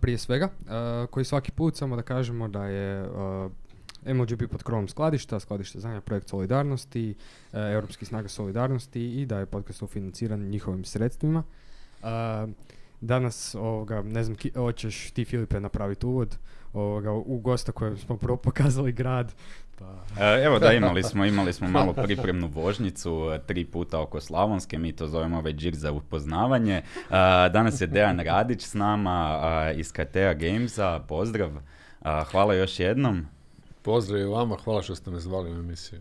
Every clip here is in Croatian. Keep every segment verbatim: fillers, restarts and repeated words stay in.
prije svega, uh, koji svaki put samo da kažemo da je uh, M L G B pod krovom skladišta, skladište znanja, projekt solidarnosti, uh, Europski snaga solidarnosti i da je podcast ufinanciran njihovim sredstvima. Uh, danas, ovoga, ne znam, ki, hoćeš ti, Filipe, napraviti uvod ovoga, u gosta kojem smo prvo pokazali grad. Pa. Evo da, imali smo, imali smo malo pripremnu vožnjicu, tri puta oko Slavonske, mi to zovemo već žir za upoznavanje. Danas je Dejan Radić s nama iz K T A Gamesa, pozdrav, hvala još jednom. Pozdrav i vama, hvala što ste me zvali u emisiju.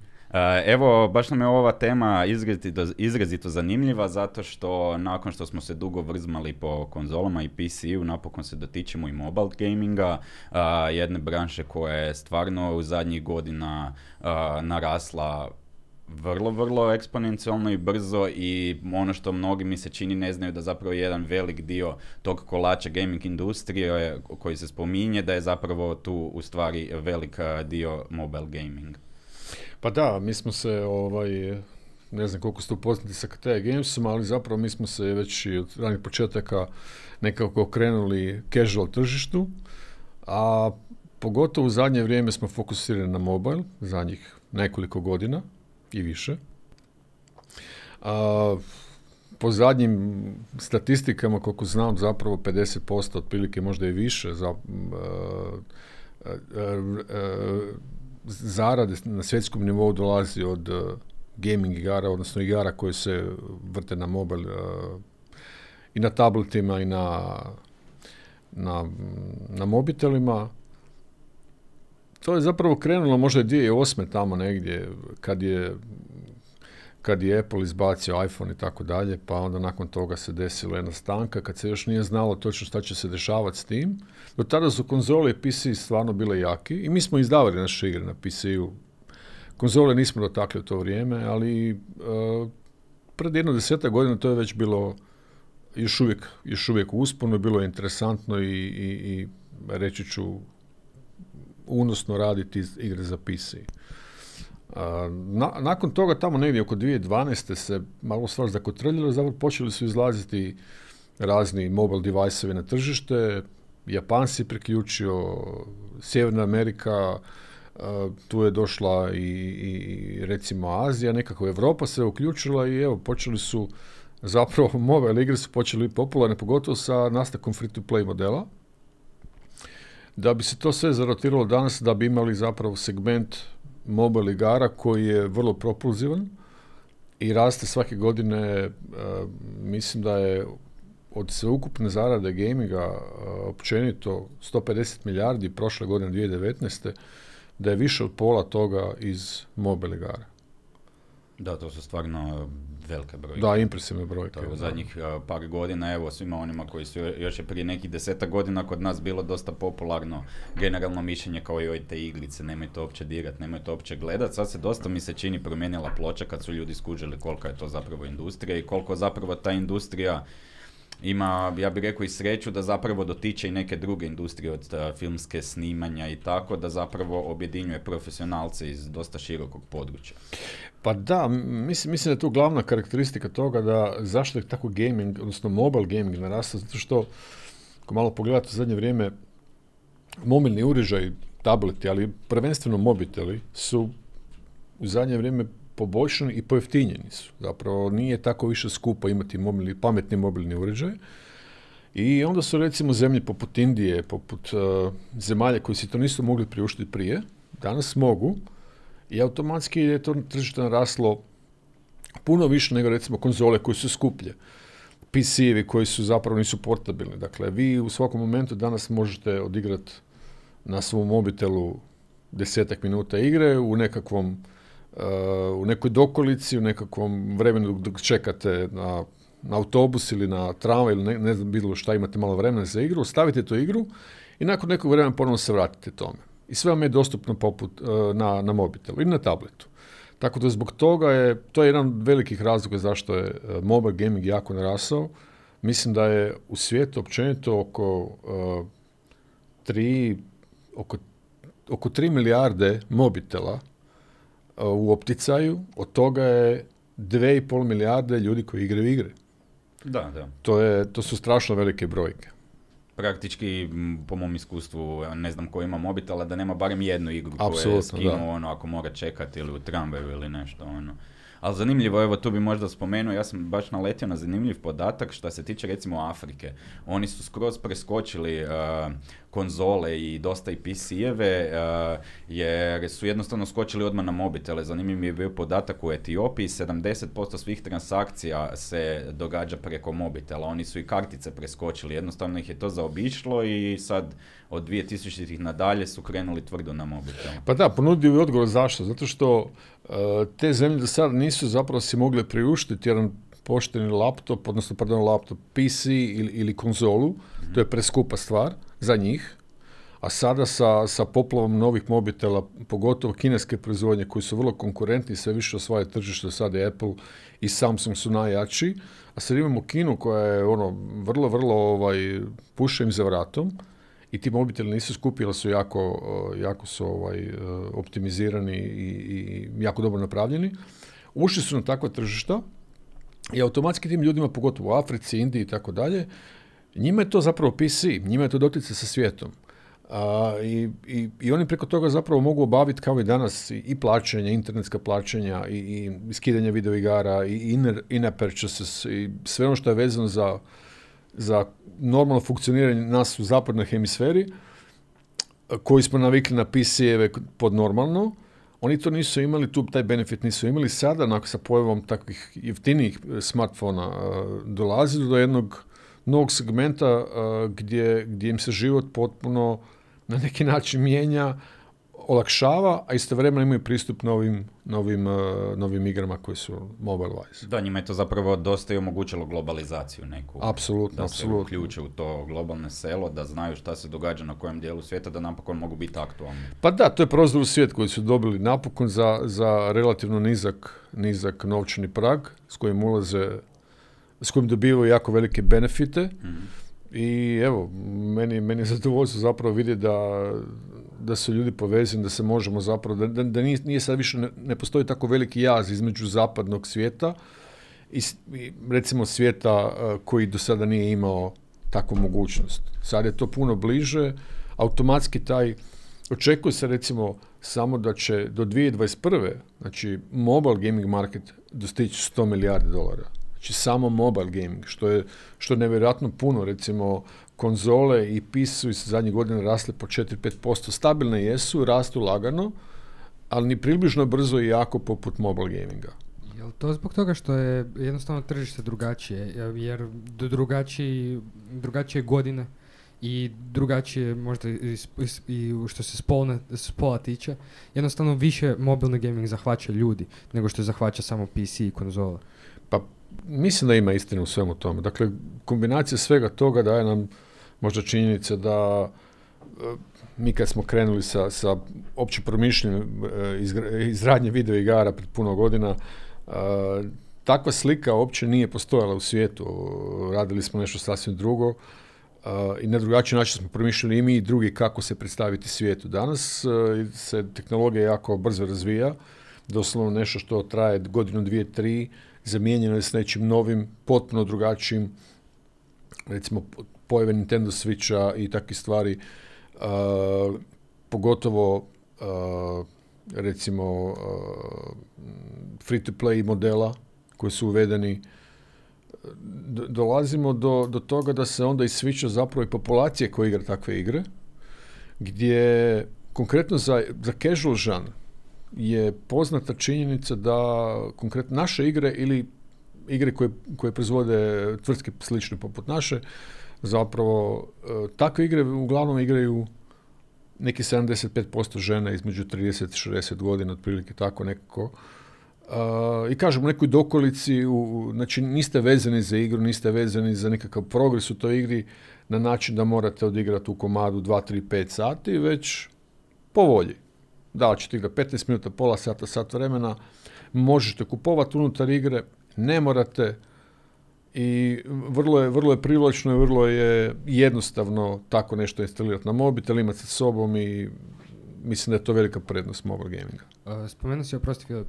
Evo, baš nam je ova tema izrazito, izrazito zanimljiva zato što nakon što smo se dugo vrzmali po konzolama i P C-u, napokon se dotičemo i mobile gaminga, jedne branše koja je stvarno u zadnjih godina narasla vrlo, vrlo eksponencijalno i brzo i ono što mnogi mi se čini ne znaju da zapravo jedan velik dio tog kolača gaming industrije koji se spominje da je zapravo tu u stvari velik dio mobile gaming. Pa da, mi smo se, ovaj, ne znam koliko ste upoznati sa K T A Gamesom, ali zapravo mi smo se već i od ranih početaka nekako okrenuli casual tržištu, a pogotovo u zadnje vrijeme smo fokusirani na mobile, zadnjih nekoliko godina i više. A, po zadnjim statistikama, koliko znam, zapravo pedeset posto otprilike, možda i više, za, a, a, a, a, zarade na svjetskom nivou dolazi od uh, gaming igara, odnosno igara koje se vrte na mobil uh, i na tabletima i na, na, na mobitelima. To je zapravo krenulo možda dvije tisuće osme tamo negdje kad je, kad je Apple izbacio iPhone i tako dalje, pa onda nakon toga se desila jedna stanka kad se još nije znalo točno šta će se dešavati s tim. Do tada su konzole i P C stvarno bile jaki i mi smo izdavali naše igre na P C-u. Konzole nismo dotakli u to vrijeme, ali uh, pred jedno desetak godina to je već bilo još uvijek, još uvijek u usponu, bilo je interesantno i, i, i reći ću unosno raditi igre za P C. Uh, na, nakon toga tamo negdje oko dvije tisuće dvanaeste se malo stvar zakotrljilo, zapravo počeli su izlaziti razni mobile device-ovi na tržište, Japan se priključio, Sjeverna Amerika, uh, tu je došla i, i recimo Azija, nekako Europa se uključila i evo počeli su, zapravo mobile igre su počeli biti popularne, pogotovo sa nastakom free-to-play modela. Da bi se to sve zarotiralo danas, da bi imali zapravo segment mobile igara koji je vrlo propulzivan i raste svake godine, uh, mislim da je od sveukupne zarade gaminga uh, općenito sto pedeset milijardi prošle godine dvije tisuće devetnaeste da je više od pola toga iz mobile igara. Da, to su stvarno velike brojke. Da, impresivne brojke. To u zadnjih uh, par godina, evo svima onima koji su još je prije nekih desetak godina kod nas bilo dosta popularno generalno mišljenje kao i oj te igrice, nemojte uopće dirat, nemojte uopće gledat. Sad se dosta mi se čini promijenila ploča kad su ljudi skužili kolika je to zapravo industrija i koliko zapravo ta industrija ima, ja bih rekao, i sreću da zapravo dotiče i neke druge industrije od uh, filmske snimanja i tako, da zapravo objedinjuje profesionalce iz dosta širokog područja. Pa da, mislim, mislim da je to glavna karakteristika toga da zašto je tako gaming, odnosno mobile gaming narastao, zato što ako malo pogledate u zadnje vrijeme mobilni uređaj, tableti, ali prvenstveno mobiteli su u zadnje vrijeme poboljšani i pojeftinjeni su. Zapravo nije tako više skupo imati mobilni, pametni mobilni uređaj. I onda su recimo zemlje poput Indije, poput uh, zemalja koji si to nisu mogli priuštiti prije, danas mogu i automatski je to tržište naraslo puno više nego recimo konzole koje su skuplje. P C-evi koji su zapravo nisu portabilni. Dakle, vi u svakom momentu danas možete odigrati na svom mobitelu desetak minuta igre u nekakvom Uh, u nekoj dokolici, u nekakvom vremenu dok čekate na, na autobus ili na tramvaj ili ne, ne znam bilo šta, imate malo vremena za igru, stavite tu igru i nakon nekog vremena ponovno se vratite tome. I sve vam je dostupno poput, uh, na, na mobitelu ili na tabletu. Tako da zbog toga je, to je jedan od velikih razloga zašto je uh, mobile gaming jako narasao. Mislim da je u svijetu općenito oko uh, tri, oko, oko tri milijarde mobitela u opticaju, od toga je dve i pol milijarde ljudi koji igraju igre. Da, da. To, je, to su strašno velike brojke. praktički, po mom iskustvu, ne znam ko ima mobitela, da nema barem jednu igru Apsolutno, koju je skinuo, ono, ako mora čekati ili u tramvaju ili nešto, ono. Ali zanimljivo, evo tu bi možda spomenuo, ja sam baš naletio na zanimljiv podatak što se tiče recimo Afrike. Oni su skroz preskočili uh, konzole i dosta i P C-eve uh, jer su jednostavno skočili odmah na mobitele. Zanimljiv mi je bio podatak u Etiopiji, sedamdeset posto svih transakcija se događa preko mobitela. Oni su i kartice preskočili, jednostavno ih je to zaobišlo i sad od dvije tisućitih nadalje su krenuli tvrdo na mobitel. Pa da, ponudio je odgovor zašto. Zato što uh, te zemlje do sada nisu zapravo si mogle priuštiti jedan pošteni laptop, odnosno pardon, laptop, P C ili, ili konzolu. Mm-hmm. To je preskupa stvar za njih. A sada sa, sa poplavom novih mobitela, pogotovo kineske proizvodnje koji su vrlo konkurentni, sve više osvaja tržište, sada je Apple i Samsung su najjači. A sad imamo Kinu koja je ono vrlo, vrlo ovaj, puše im za vratom. I ti mobiteli nisu skupi, ali su jako, jako su ovaj, optimizirani i, i jako dobro napravljeni. Ušli su na takva tržišta i automatski tim ljudima, pogotovo u Africi, Indiji i tako dalje, njima je to zapravo P C, njima je to doticaj sa svijetom. A, i, i, I oni preko toga zapravo mogu obaviti kao i danas i, i plaćanja, internetska plaćanja i, i skidanje videoigara i in, in-app purchases i sve ono što je vezano za za normalno funkcioniranje nas u zapadnoj hemisferi, koji smo navikli na P C-eve pod normalno, oni to nisu imali, tu taj benefit nisu imali. Sada, nakon sa pojavom takvih jeftinijih smartfona, dolazi do jednog novog segmenta gdje, gdje im se život potpuno na neki način mijenja, olakšava, a istovremeno imaju pristup novim, novim, uh, novim igrama koji su mobile-wise. Da, njima je to zapravo dosta i omogućilo globalizaciju neku. Apsolutno, da apsolutno. se uključe u to globalno selo, da znaju šta se događa na kojem dijelu svijeta, da napokon mogu biti aktualni. Pa da, to je prozor u svijet koji su dobili napokon za, za relativno nizak, nizak novčani prag s kojim ulaze, s kojim dobivaju jako velike benefite. Mm-hmm. I evo, meni, meni je zadovoljstvo zapravo vidjeti da da su ljudi povezani, da se možemo zapravo, da, da, da nije, nije sad više, ne, ne postoji tako veliki jaz između zapadnog svijeta i, i recimo svijeta uh, koji do sada nije imao takvu mogućnost. Sad je to puno bliže, automatski taj, očekuje se recimo samo da će do dvije tisuće dvadeset prve znači mobile gaming market dostići sto milijardi dolara. Znači samo mobile gaming, što je, što je nevjerojatno puno, recimo konzole i P C su iz zadnjih godina rasle po četiri do pet posto, stabilne jesu, rastu lagano, ali ni približno brzo i jako poput mobile gaminga. Je li to zbog toga što je jednostavno tržište drugačije, jer drugačiji, drugačije godine i drugačije možda i, i, i što se spolne, spola tiče, jednostavno više mobilni gaming zahvaća ljudi nego što zahvaća samo P C i konzola. Pa mislim da ima istine u svemu tome. Dakle, kombinacija svega toga daje nam možda činjenica da mi kad smo krenuli sa, sa opće promišljenjem izgradnje video igara pred puno godina, takva slika uopće nije postojala u svijetu. Radili smo nešto sasvim drugo i na drugačiji način smo promišljali i mi i drugi kako se predstaviti svijetu. Danas se tehnologija jako brzo razvija, doslovno nešto što traje godinu, dvije, tri, zamijenjeno je s nečim novim, potpuno drugačijim, recimo pojave Nintendo Switcha i takve stvari, uh, pogotovo uh, recimo uh, free-to-play modela koji su uvedeni. Do, dolazimo do, do toga da se onda i Switcha zapravo i populacije koje igra takve igre, gdje konkretno za, za casual žanr je poznata činjenica da konkretno naše igre ili igre koje, koje proizvode tvrtke slične poput naše, zapravo takve igre uglavnom igraju neki sedamdeset pet posto žena između trideset i šezdeset godina, otprilike tako nekako. Uh, I kažem, u nekoj dokolici, u, znači niste vezani za igru, niste vezani za nekakav progres u toj igri na način da morate odigrati u komadu dva, tri, pet sati, već po volji. Da li ćete igrati petnaest minuta, pola sata, sat vremena, možete kupovati unutar igre, ne morate i vrlo je, vrlo je privlačno i vrlo je jednostavno tako nešto instalirati na mobitel, imati sa sobom i mislim da je to velika prednost mobile gaminga. Uh, spomenuo si, oprosti Filip,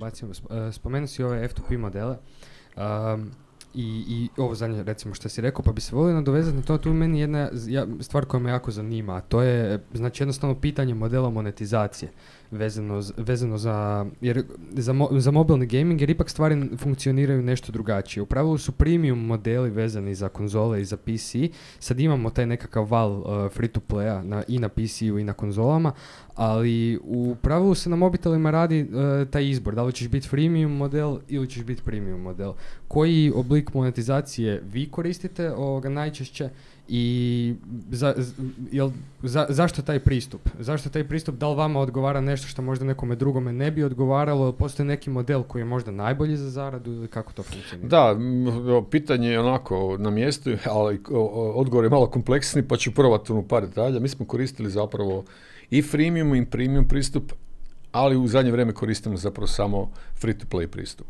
bacimo, uh, spomenuo si ove F dva P modele. Um, I, i ovo zadnje, recimo, što si rekao, pa bi se volio nadovezati na to, tu je meni jedna ja, stvar koja me jako zanima, a to je, znači, jednostavno pitanje modela monetizacije vezano, vezano za, jer, za, mo, za mobilni gaming, jer ipak stvari funkcioniraju nešto drugačije. U pravilu su premium modeli vezani za konzole i za P C, sad imamo taj nekakav val uh, free-to-playa na, i na P C-u i na konzolama, ali u pravilu se na mobitelima radi uh, taj izbor, da li ćeš biti freemium model ili ćeš biti premium model. Koji oblik monetizacije vi koristite ovoga najčešće i za, jel, za, zašto taj pristup? Zašto taj pristup? Da li vama odgovara nešto što možda nekome drugome ne bi odgovaralo, ili postoji neki model koji je možda najbolji za zaradu ili kako to funkcionira? Da, pitanje je onako na mjestu, ali odgovor je malo kompleksni, pa ću probati u par detalja. Mi smo koristili zapravo i freemium i premium pristup, ali u zadnje vrijeme koristimo zapravo samo free-to-play pristup.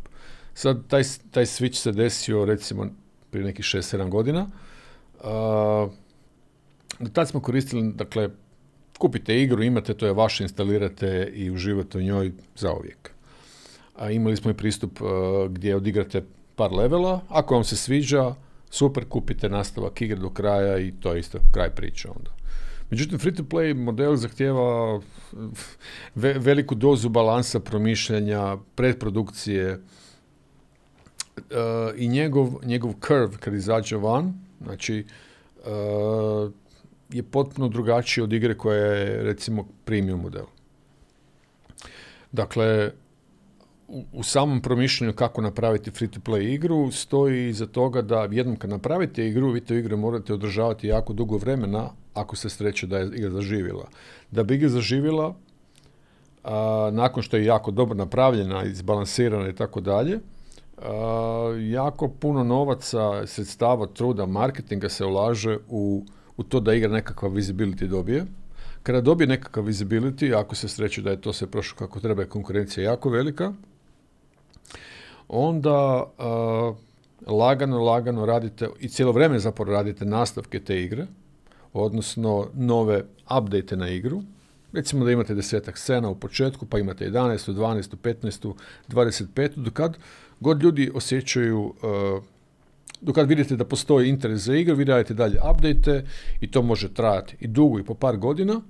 Sad, taj, taj switch se desio recimo prije nekih šest sedam godina. Uh, tad smo koristili, dakle, kupite igru, imate, to je vaše, instalirate i uživate u njoj zauvijek. A imali smo i pristup uh, gdje odigrate par levela, ako vam se sviđa, super, kupite nastavak igre do kraja i to je isto kraj priče onda. Međutim, free-to-play model zahtijeva ve- veliku dozu balansa, promišljanja, predprodukcije uh, i njegov, njegov curve kad izađe van, znači, uh, je potpuno drugačiji od igre koja je, recimo, premium model. Dakle, u, u samom promišljanju kako napraviti free-to-play igru stoji iza toga da jednom kad napravite igru, vi tu igru morate održavati jako dugo vremena ako se sreće da je igra zaživjela. Da bi igra zaživjela, a, nakon što je jako dobro napravljena, izbalansirana i tako dalje, jako puno novaca, sredstava, truda, marketinga se ulaže u, u to da igra nekakav visibility dobije. Kada dobije nekakav visibility, ako se sreće da je to sve prošlo kako treba, je konkurencija jako velika, onda uh, lagano, lagano radite i cijelo vrijeme zapravo radite nastavke te igre, odnosno nove update na igru. Recimo da imate desetak scena u početku, pa imate jedanaest, dvanaest, petnaest, dvadeset pet, dokad god ljudi osjećaju, uh, dokad vidite da postoji interes za igru, vi radite dalje update i to može trajati i dugo i po par godina.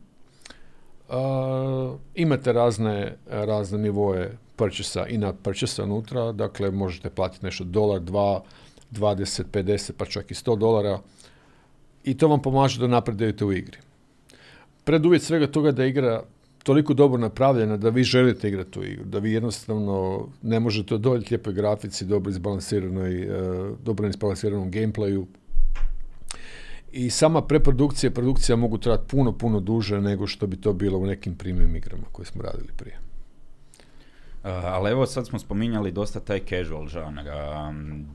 Uh, imate razne, razne nivoje purchase-a i na purchase-a unutra, dakle možete platiti nešto dolar, dva, dvadeset, pedeset, pa čak i sto dolara i to vam pomaže da napredujete u igri. Preduvjet svega toga da je igra toliko dobro napravljena da vi želite igrati tu igru, da vi jednostavno ne možete odoljiti lijepoj grafici, dobro izbalansiranoj, uh, dobro izbalansiranom gameplayu. I sama preprodukcija i produkcija mogu trajati puno, puno duže nego što bi to bilo u nekim premium igrama koje smo radili prije. Uh, ali evo sad smo spominjali dosta taj casual žanr. Um,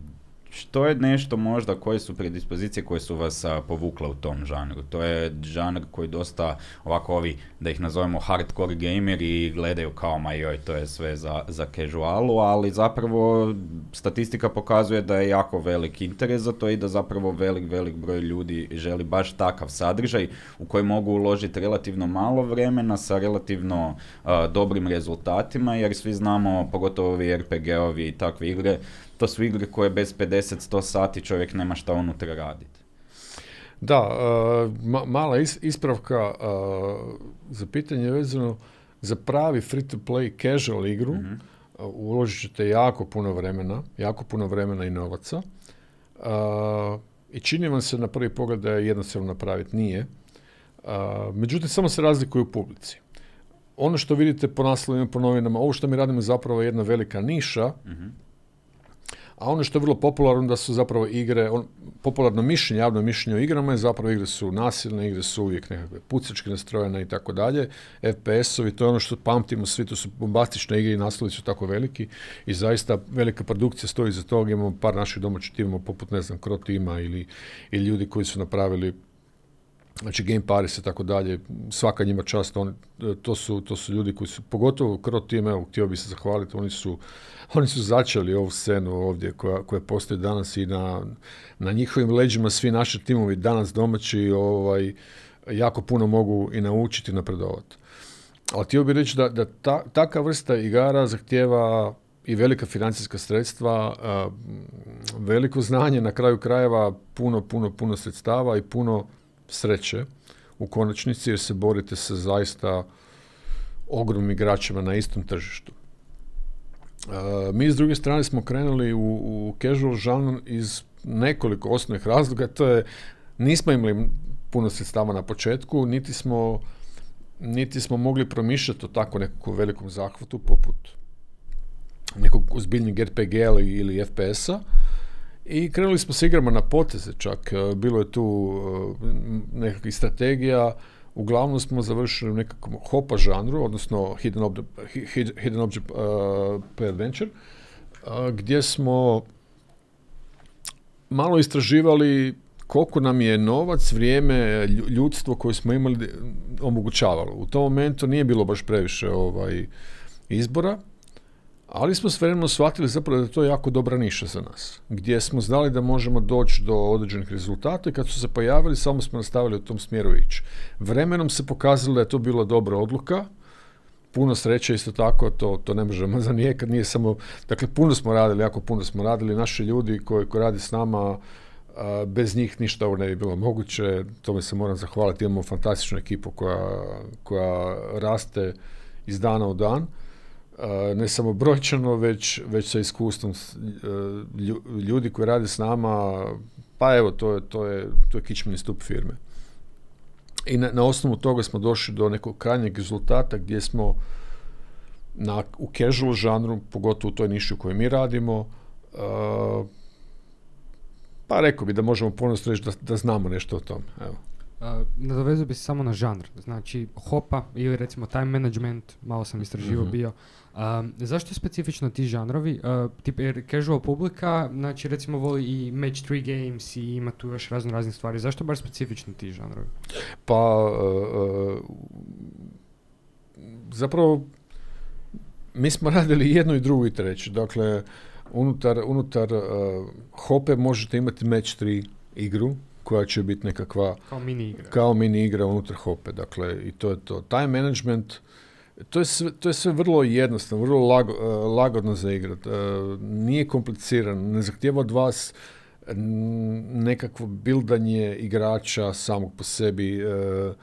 što je nešto možda, koje su predispozicije koje su vas a, povukle u tom žanru? To je žanr koji dosta ovako ovi, da ih nazovemo hardcore gameri, gledaju kao ma joj, to je sve za, za casualu, ali zapravo statistika pokazuje da je jako velik interes za to i da zapravo velik, velik broj ljudi želi baš takav sadržaj u koji mogu uložiti relativno malo vremena sa relativno a, dobrim rezultatima, jer svi znamo, pogotovo ovi er pe ge-ovi i takve igre, to su igre koje bez pedeset do sto sati čovjek nema šta unutra raditi. Da, uh, ma- mala is- ispravka uh, za pitanje vezano za pravi free-to-play casual igru, mm-hmm. uh, uložit ćete jako puno vremena, jako puno vremena i novaca. Uh, I čini vam se na prvi pogled da je jednostavno napraviti, nije. Uh, međutim, samo se razlikuju u publici. Ono što vidite po naslovima, po novinama, ovo što mi radimo je zapravo jedna velika niša, mm-hmm. A ono što je vrlo popularno da su zapravo igre, on, popularno mišljenje, javno mišljenje o igrama je zapravo igre su nasilne, igre su uvijek nekakve pucački nastrojene i tako dalje, ef pe es-ovi, to je ono što pamtimo svi, to su bombastične igre i naslovi su tako veliki i zaista velika produkcija stoji iza toga, imamo par naših domaćih timova poput, ne znam, Cro Tima ili, ili ljudi koji su napravili, znači Game Paris i tako dalje, svaka njima čast, on, to, su, to su ljudi koji su, pogotovo Cro Team, evo, htio bi se zahvaliti, oni su Oni su začeli ovu scenu ovdje koja, koja postoji danas i na, na njihovim leđima svi naši timovi danas domaći ovaj, jako puno mogu i naučiti i napredovati. Ali htio bih reći da, da ta, taka vrsta igara zahtijeva i velika financijska sredstva, veliko znanje, na kraju krajeva puno, puno, puno sredstava i puno sreće u konačnici, jer se borite sa zaista ogromnim igračima na istom tržištu. Uh, mi s druge strane smo krenuli u, u casual žanr iz nekoliko osnovnih razloga. To je, nismo imali puno sredstava na početku, niti smo, niti smo mogli promišljati o tako nekakvom velikom zahvatu poput nekog ozbiljnijeg er pe ge-a ili ef pe es-a i krenuli smo s igrama na poteze čak. Bilo je tu nekakvih strategija. Uglavnom smo završili u nekakvom hopa žanru, odnosno Hidden Object, hidden object uh, Play Adventure, uh, gdje smo malo istraživali koliko nam je novac, vrijeme, ljudstvo koje smo imali omogućavalo. U tom momentu nije bilo baš previše ovaj, izbora, ali smo s vremenom shvatili zapravo da je to jako dobra niša za nas, gdje smo znali da možemo doći do određenih rezultata i kad su se pojavili, samo smo nastavili u tom smjeru ići. Vremenom se pokazalo da je to bila dobra odluka, puno sreće isto tako, to, to ne možemo zanijekati, nije samo, dakle puno smo radili, jako puno smo radili, naši ljudi koji, koji radi s nama, a, bez njih ništa ovo ne bi bilo moguće, tome se moram zahvaliti, imamo fantastičnu ekipu koja, koja raste iz dana u dan. Uh, ne samo brojčano, već, već sa iskustvom uh, ljudi koji rade s nama, pa evo, to je, to je, to je kičmeni stup firme. I na, na osnovu toga smo došli do nekog krajnjeg rezultata gdje smo na, u casual žanru, pogotovo u toj niši u kojoj mi radimo, uh, pa rekao bi da možemo ponosno reći da, da znamo nešto o tome. Evo. Uh, nadovezao bi se samo na žanr, znači hopa ili recimo time management, malo sam istraživao mm-hmm. bio. Um, zašto specifično ti žanrovi? Uh, tip, jer casual publika, znači recimo voli i match three games i ima tu još razno raznih stvari. Zašto baš specifično ti žanrovi? Pa uh, zapravo mi smo radili jedno i drugo i treće. Dakle, unutar, unutar uh, hope možete imati match tri igru koja će biti nekakva kao mini igra, kao mini igra unutar hope. Dakle, i to je to. Time management, to je sve, to je sve vrlo jednostavno, vrlo lago, uh, lagodno za igrat. Uh, nije komplicirano, ne zahtijeva od vas nekakvo bildanje igrača samog po sebi. Uh,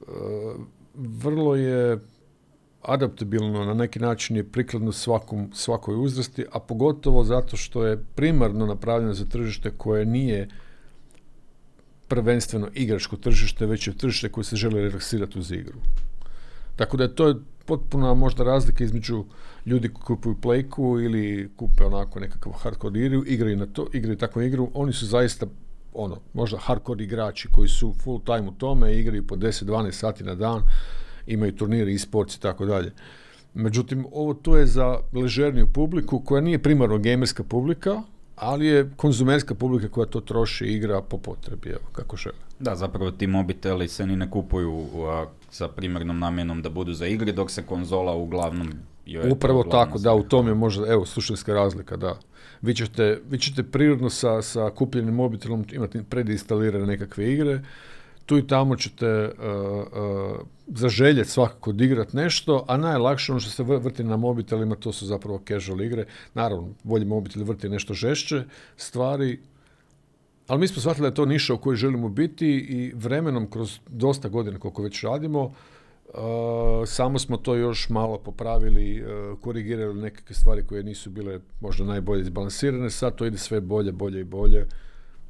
uh, vrlo je adaptabilno, na neki način je prikladno svakom, svakoj uzrasti, a pogotovo zato što je primarno napravljeno za tržište koje nije prvenstveno igračko tržište, već je tržište koje se želi relaksirati uz igru. Tako da je to potpuna možda razlika između ljudi koji kupuju Playku ili kupe onako nekakav hardcore igru, igraju na to, igraju takvu igru, oni su zaista ono, možda hardcore igrači koji su full time u tome, igraju po deset do dvanaest sati na dan, imaju turnire, e-sports i tako dalje. Međutim, ovo to je za ležerniju publiku koja nije primarno gamerska publika, ali je konzumerska publika koja to troši i igra po potrebi, evo, kako žele. Da, zapravo ti mobiteli se ni ne kupuju a, sa primarnom namjenom da budu za igre, dok se konzola uglavnom... Je Upravo tako, da, u tom je možda, evo, suštinska razlika, da. Vi ćete, vi ćete prirodno sa, sa kupljenim mobitelom imati predinstalirane nekakve igre, tu i tamo ćete uh, uh, zaželjeti svakako odigrati nešto, a najlakše ono što se vrti na mobitelima, to su zapravo casual igre. Naravno, bolji mobitel vrti nešto žešće stvari, ali mi smo shvatili da je to niša u kojoj želimo biti i vremenom, kroz dosta godina koliko već radimo, uh, samo smo to još malo popravili, uh, korigirali nekakve stvari koje nisu bile možda najbolje izbalansirane. Sad to ide sve bolje, bolje i bolje,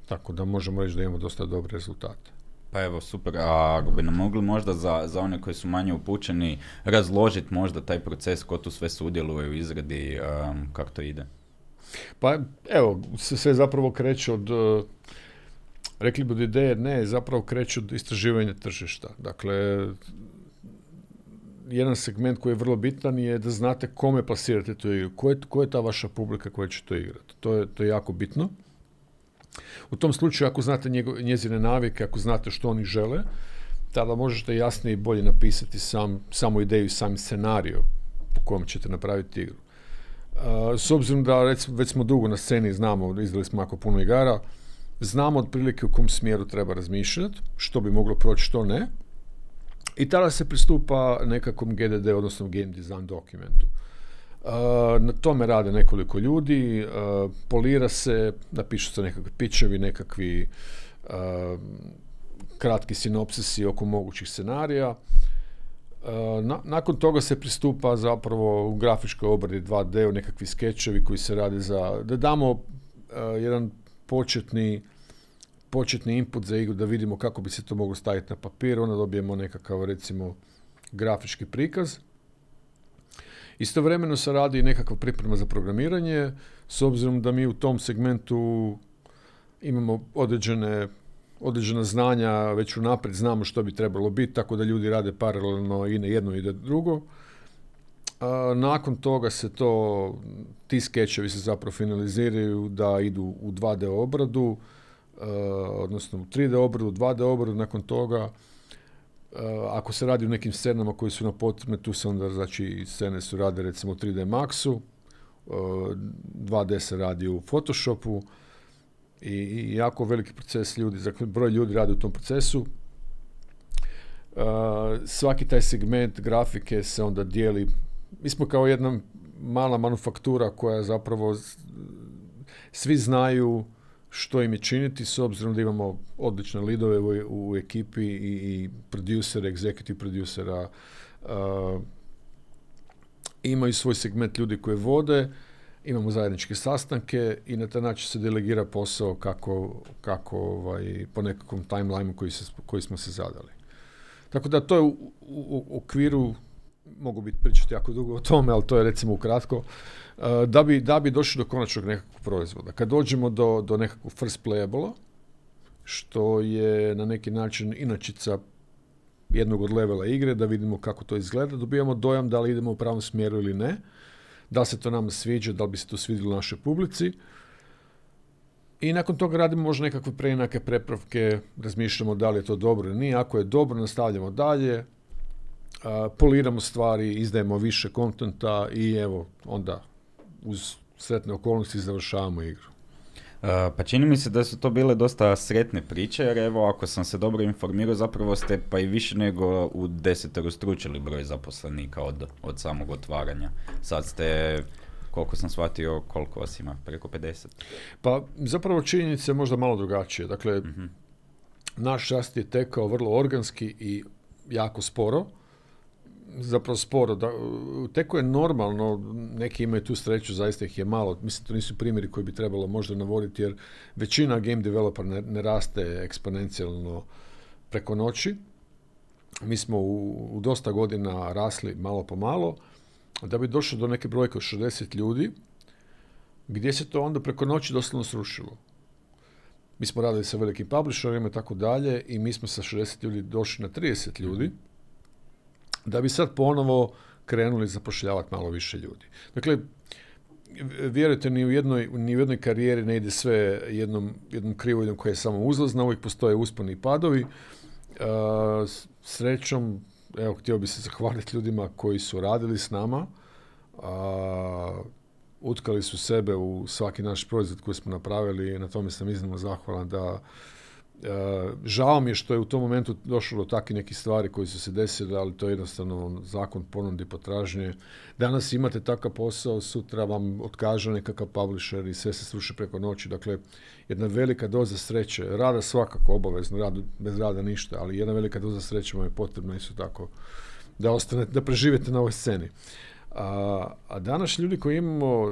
tako da možemo reći da imamo dosta dobre rezultate. Pa evo, super. A ako bi nam mogli možda za, za one koji su manje upućeni razložiti možda taj proces, ko tu sve sudjeluje u izradi, um, kako to ide? Pa evo, sve zapravo kreće od, uh, rekli bi od ideje, ne, zapravo kreće od istraživanja tržišta. Dakle, jedan segment koji je vrlo bitan je da znate kome plasirate tu igru, ko je, ko je ta vaša publika koja će to igrati. To je, to je jako bitno. U tom slučaju, ako znate njego, njezine navike, ako znate što oni žele, tada možete jasnije i bolje napisati sam, samu ideju i sam scenario po kojem ćete napraviti igru. Uh, s obzirom da recimo, već smo dugo na sceni, znamo, izdali smo jako puno igara, znamo otprilike u kom smjeru treba razmišljati, što bi moglo proći, što ne, i tada se pristupa nekakvom ge de de, odnosno Game Design dokumentu. na tome rade nekoliko ljudi, uh, polira se, napišu se nekakvi pičevi, nekakvi uh, kratki sinopsisi oko mogućih scenarija. Uh, na, nakon toga se pristupa zapravo u grafičkoj obradi dva D, u nekakvi skečevi koji se rade za, da damo uh, jedan početni početni input za igru, da vidimo kako bi se to moglo staviti na papir, onda dobijemo nekakav, recimo, grafički prikaz. Istovremeno se radi nekakva priprema za programiranje, s obzirom da mi u tom segmentu imamo određene, određena znanja, već unaprijed znamo što bi trebalo biti, tako da ljudi rade paralelno i na jedno i na drugo. A, nakon toga se to, ti skečevi se zapravo finaliziraju da idu u dva D obradu, Uh, odnosno u tri D obradu, dva D obradu, nakon toga uh, ako se radi o nekim scenama koji su na potrebne, tu se onda, znači, scene su rade recimo u tri D Maxu, uh, dva D se radi u Photoshopu i, i jako veliki proces ljudi, dakle broj ljudi radi u tom procesu. Uh, svaki taj segment grafike se onda dijeli, mi smo kao jedna mala manufaktura koja zapravo svi znaju što im je činiti, s obzirom da imamo odlične lidove u, u ekipi i, i producere, executive producera, uh, imaju svoj segment ljudi koji vode, imamo zajedničke sastanke i na taj način se delegira posao kako, kako ovaj, po nekakvom timelineu koji, se, koji smo se zadali. Tako da to je u, u, u okviru, mogu biti pričati jako dugo o tome, ali to je recimo ukratko, da bi, da bi došli do konačnog nekakvog proizvoda. Kad dođemo do, do nekakvog first playable, što je na neki način inačica jednog od levela igre, da vidimo kako to izgleda, dobijamo dojam da li idemo u pravom smjeru ili ne, da li se to nama sviđa, da li bi se to svidjelo našoj publici. I nakon toga radimo možda nekakve preinake, prepravke, razmišljamo da li je to dobro ili nije. Ako je dobro, nastavljamo dalje, a, poliramo stvari, izdajemo više kontenta i evo, onda uz sretne okolnosti završavamo igru. Uh, pa čini mi se da su to bile dosta sretne priče, jer evo, ako sam se dobro informirao, zapravo ste pa i više nego u deseterostručili broj zaposlenika od, od samog otvaranja. Sad ste, koliko sam shvatio, koliko vas ima? Preko pedeset? Pa zapravo činjenica je možda malo drugačije. Dakle, uh-huh. naš rast je tekao vrlo organski i jako sporo. Zapravo sporo. Da, teko je normalno, neki imaju tu sreću, zaista ih je malo. Mislim, to nisu primjeri koji bi trebalo možda navoditi, jer većina game developer ne, ne raste eksponencijalno preko noći. Mi smo u, u dosta godina rasli malo po malo, da bi došlo do neke brojke od šezdeset ljudi, gdje se to onda preko noći doslovno srušilo. Mi smo radili sa velikim publisherima i tako dalje i mi smo sa šezdeset ljudi došli na trideset ljudi, da bi sad ponovo krenuli zapošljavati malo više ljudi. Dakle, vjerujte, ni u jednoj, ni u jednoj karijeri ne ide sve jednom, jednom krivoljom koja je samo uzlazna, uvijek postoje usponi i padovi. Uh, srećom, evo, htio bi se zahvaliti ljudima koji su radili s nama, uh, utkali su sebe u svaki naš proizvod koji smo napravili i na tome sam iznimno zahvalan da Uh, žao mi je što je u tom momentu došlo do takvih nekih stvari koji su se desile, ali to je jednostavno zakon ponude i potražnje. Danas imate takav posao, sutra vam otkaže nekakav publisher i sve se sruši preko noći. Dakle, jedna velika doza sreće, rada svakako obavezno, rad, bez rada ništa, ali jedna velika doza sreće vam je potrebna isto tako da ostanete, da preživite na ovoj sceni. A, a danas ljudi koji imamo,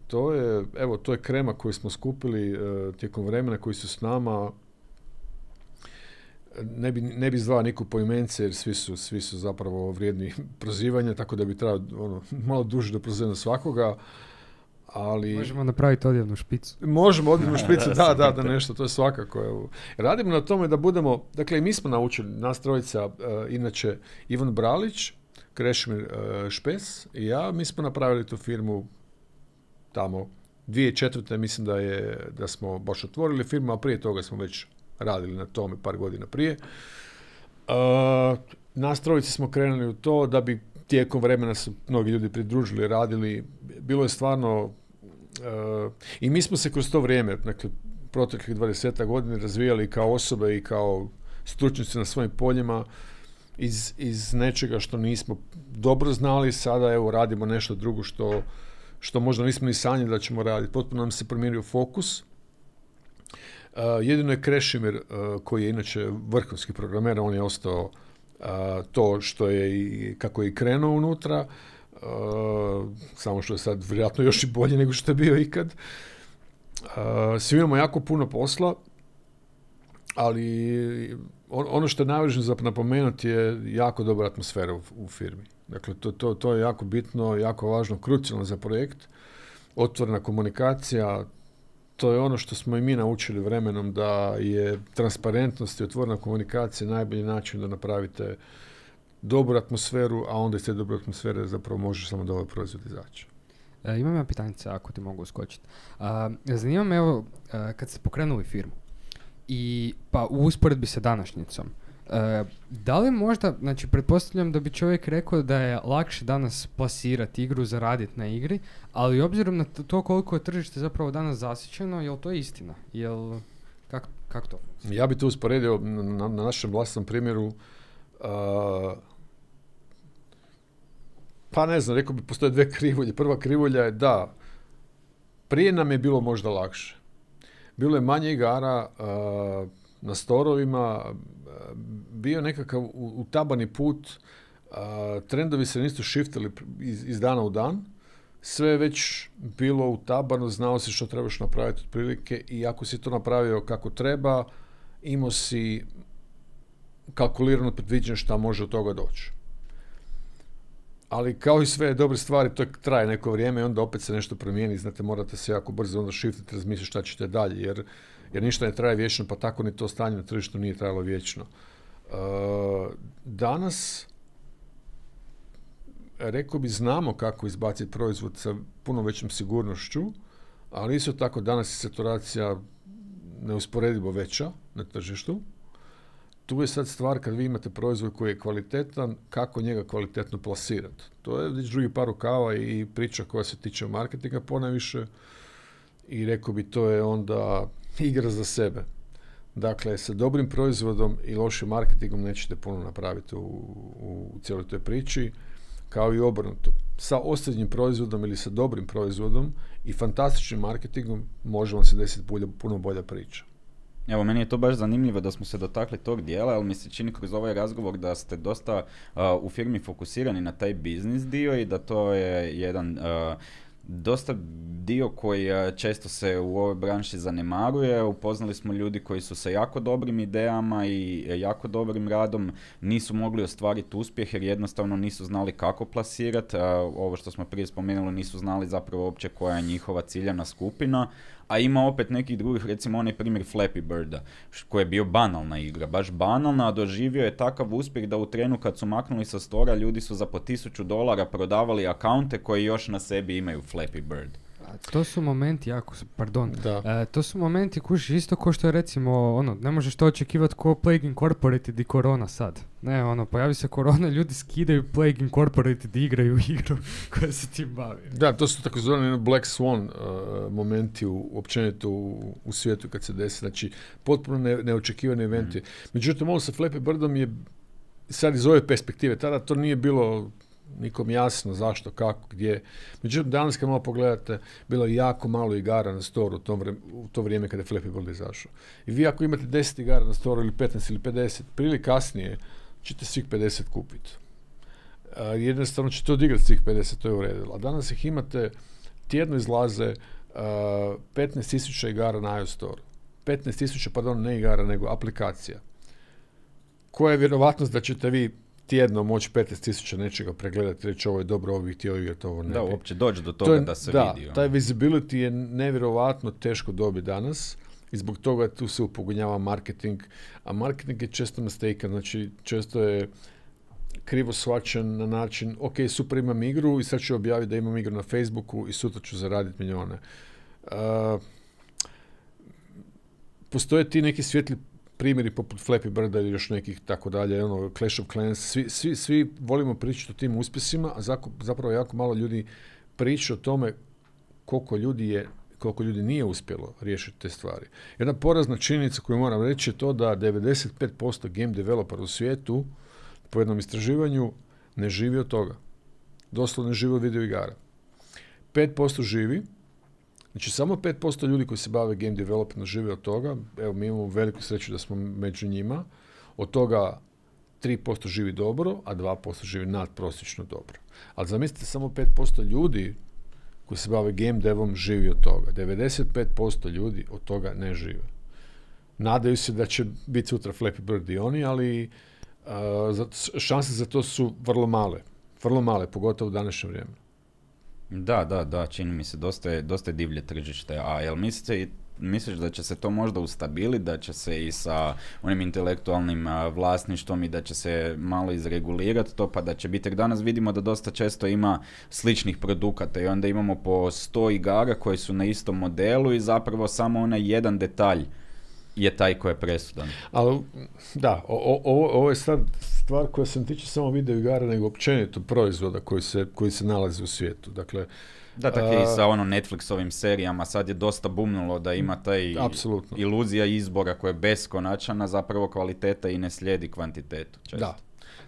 to je, evo, to je krema koju smo skupili uh, tijekom vremena, koji su s nama. Ne bi, ne bi zvao niku poimence, jer svi su, svi su zapravo vrijedni prozivanja, tako da bi trebalo ono, malo duže da prozivamo svakoga, ali... Možemo napraviti odjevnu špicu. Možemo odjevnu špicu, da, da, da, nešto, to je svakako. Evo. Radimo na tome da budemo, dakle i mi smo naučili, nas trojica, uh, inače Ivan Bralić, Krešimir uh, Špes i ja, mi smo napravili tu firmu tamo dvije tisuće četvrte. mislim da je, da smo baš otvorili firmu, a prije toga smo već radili na tome par godina prije. Uh, nas trojice smo krenuli u to da bi tijekom vremena su mnogi ljudi pridružili, radili. Bilo je stvarno... Uh, I mi smo se kroz to vrijeme, dakle, proteklih dvadeset godina razvijali kao osobe i kao stručnjaci na svojim poljima. iz, iz nečega što nismo dobro znali, sada evo radimo nešto drugo što, što možda nismo ni sanjali da ćemo raditi. Potpuno nam se promijenio fokus. Uh, jedino je Krešimir, uh, koji je inače vrhunski programer, on je ostao uh, to što je i kako je i krenuo unutra, uh, samo što je sad vjerojatno još i bolje nego što je bio ikad. Uh, svi imamo jako puno posla, ali on, ono što je najvažnije za napomenuti je jako dobra atmosfera u, u firmi. Dakle, to, to, to je jako bitno, jako važno, krucijalno za projekt. Otvorena komunikacija, to je ono što smo i mi naučili vremenom, da je transparentnost i otvorena komunikacija najbolji način da napravite dobru atmosferu, a onda iz te dobre atmosfere zapravo može samo da ovaj proizvod izaći. E, imam ja pitanje, ako ti mogu uskočiti. Zanima me, evo, kad ste pokrenuli firmu, i pa u usporedbi sa današnjicom, e, da li možda, znači pretpostavljam da bi čovjek rekao da je lakše danas plasirati igru, zaraditi na igri, ali obzirom na to koliko je tržište zapravo danas zasićeno, je li to istina? Jel, kak, kak to? Ja bi to usporedio na, na našem vlastnom primjeru. Uh, pa ne znam, rekao bi, postoje dve krivulje. Prva krivulja je da, prije nam je bilo možda lakše. Bilo je manje igara uh, na storovima, uh, bio nekakav utabani put, uh, trendovi se nisu shiftali iz, iz dana u dan, sve je već bilo utabano, znao si što trebaš napraviti otprilike i ako si to napravio kako treba, imao si kalkulirano predviđeno šta može od toga doći. Ali kao i sve dobre stvari, to traje neko vrijeme i onda opet se nešto promijeni, znate, morate se jako brzo onda shiftiti, razmisliti šta ćete dalje, jer, jer ništa ne traje vječno, pa tako ni to stanje na tržištu nije trajalo vječno. Uh, danas, rekao bi, znamo kako izbaciti proizvod sa puno većom sigurnošću, ali isto tako danas je saturacija neusporedivo veća na tržištu. Tu je sad stvar kad vi imate proizvod koji je kvalitetan, kako njega kvalitetno plasirati. To je već drugi par rukava i priča koja se tiče marketinga ponajviše i rekao bi to je onda igra za sebe. Dakle, sa dobrim proizvodom i lošim marketingom nećete puno napraviti u, u, u cijeloj toj priči, kao i obrnuto. Sa osrednjim proizvodom ili sa dobrim proizvodom i fantastičnim marketingom može vam se desiti bolja, puno bolja priča. Evo, meni je to baš zanimljivo da smo se dotakli tog dijela, ali mi se čini kroz ovaj razgovor da ste dosta uh, u firmi fokusirani na taj biznis dio i da to je jedan uh, dosta dio koji uh, često se u ovoj branši zanemaruje. Upoznali smo ljudi koji su sa jako dobrim idejama i jako dobrim radom nisu mogli ostvariti uspjeh jer jednostavno nisu znali kako plasirati. Uh, ovo što smo prije spomenuli, nisu znali zapravo uopće koja je njihova ciljana skupina. A ima opet nekih drugih, recimo onaj primjer Flappy Birda, koji je bio banalna igra, baš banalna, a doživio je takav uspjeh da u trenu kad su maknuli sa stora, ljudi su za po tisuću dolara prodavali akaunte koji još na sebi imaju Flappy Bird. To su momenti jako, pardon, da. E, to su momenti kuš isto ko što je recimo, ono, ne možeš to očekivati ko Plague Incorporated i Korona sad. Ne, ono, pojavi se Korona, ljudi skidaju Plague Incorporated i igraju igru koja se tim bavi. Da, to su takozvani Black Swan uh, momenti u, općenito u, u svijetu kad se desi, znači potpuno ne, neočekivani eventi. Mm. Međutim, ovo sa Flappy Birdom je sad iz ove perspektive, tada to nije bilo nikom jasno zašto, kako, gdje. Međutim, danas kad malo pogledate, bilo je jako malo igara na storu u, tom vre, u to vrijeme kada je Flappy Bird izašao. I vi ako imate deset igara na storu ili petnaest ili pedeset, prije ili kasnije ćete svih pedeset kupiti. Uh, jednostavno ćete odigrati svih pedeset, to je uredilo. A danas ih imate, tjedno izlaze uh, petnaest tisuća igara na iOS Store. petnaest tisuća, pardon, ne igara, nego aplikacija. Koja je vjerovatnost da ćete vi tjedno moći petnaest tisuća nečega pregledati, reći ovo je dobro, ovo bih htio igrati, ovo ne bi. Da, uopće doći do toga to je, da se da, vidi. Da, taj visibility je nevjerovatno teško dobiti danas i zbog toga tu se upogonjava marketing, a marketing je često mistaken, znači često je krivo shvaćen na način, ok, super, imam igru i sad ću objaviti da imam igru na Facebooku i sutra ću zaraditi milijone. Uh, postoje ti neki svijetli primjeri poput Flappy Birda ili još nekih tako dalje, ono, Clash of Clans, svi, svi, svi volimo pričati o tim uspjesima, a zapravo jako malo ljudi priča o tome koliko ljudi je, koliko ljudi nije uspjelo riješiti te stvari. Jedna porazna činjenica koju moram reći je to da devedeset pet posto game developera u svijetu po jednom istraživanju ne živi od toga. Doslovno ne živi od video igara. pet posto živi, znači samo pet posto ljudi koji se bave game developmentom žive od toga. Evo, mi imamo veliku sreću da smo među njima. Od toga tri posto živi dobro, a dva posto živi nadprosječno dobro. Ali zamislite, samo pet posto ljudi koji se bave game devom živi od toga. devedeset pet posto ljudi od toga ne žive. Nadaju se da će biti sutra Flappy Bird i oni, ali uh, šanse za to su vrlo male. Vrlo male, pogotovo u današnje vrijeme. Da, da, da, čini mi se, dosta je, dosta je divlje tržište. A jel mislite, misliš da će se to možda ustabiliti, da će se i sa onim intelektualnim a, vlasništvom i da će se malo izregulirati to, pa da će biti, jer danas vidimo da dosta često ima sličnih produkata i onda imamo po sto igara koji su na istom modelu i zapravo samo onaj jedan detalj je taj koji je presudan. Ali, da, o, o, ovo je sad stvar koja se ne tiče samo video igara, nego općenito proizvoda koji se, koji se nalaze u svijetu. Dakle, da, tako i sa ono Netflixovim serijama, sad je dosta bumnulo da ima taj apsolutno. Iluzija izbora koja je beskonačna, zapravo kvaliteta i ne slijedi kvantitetu. Često. Da,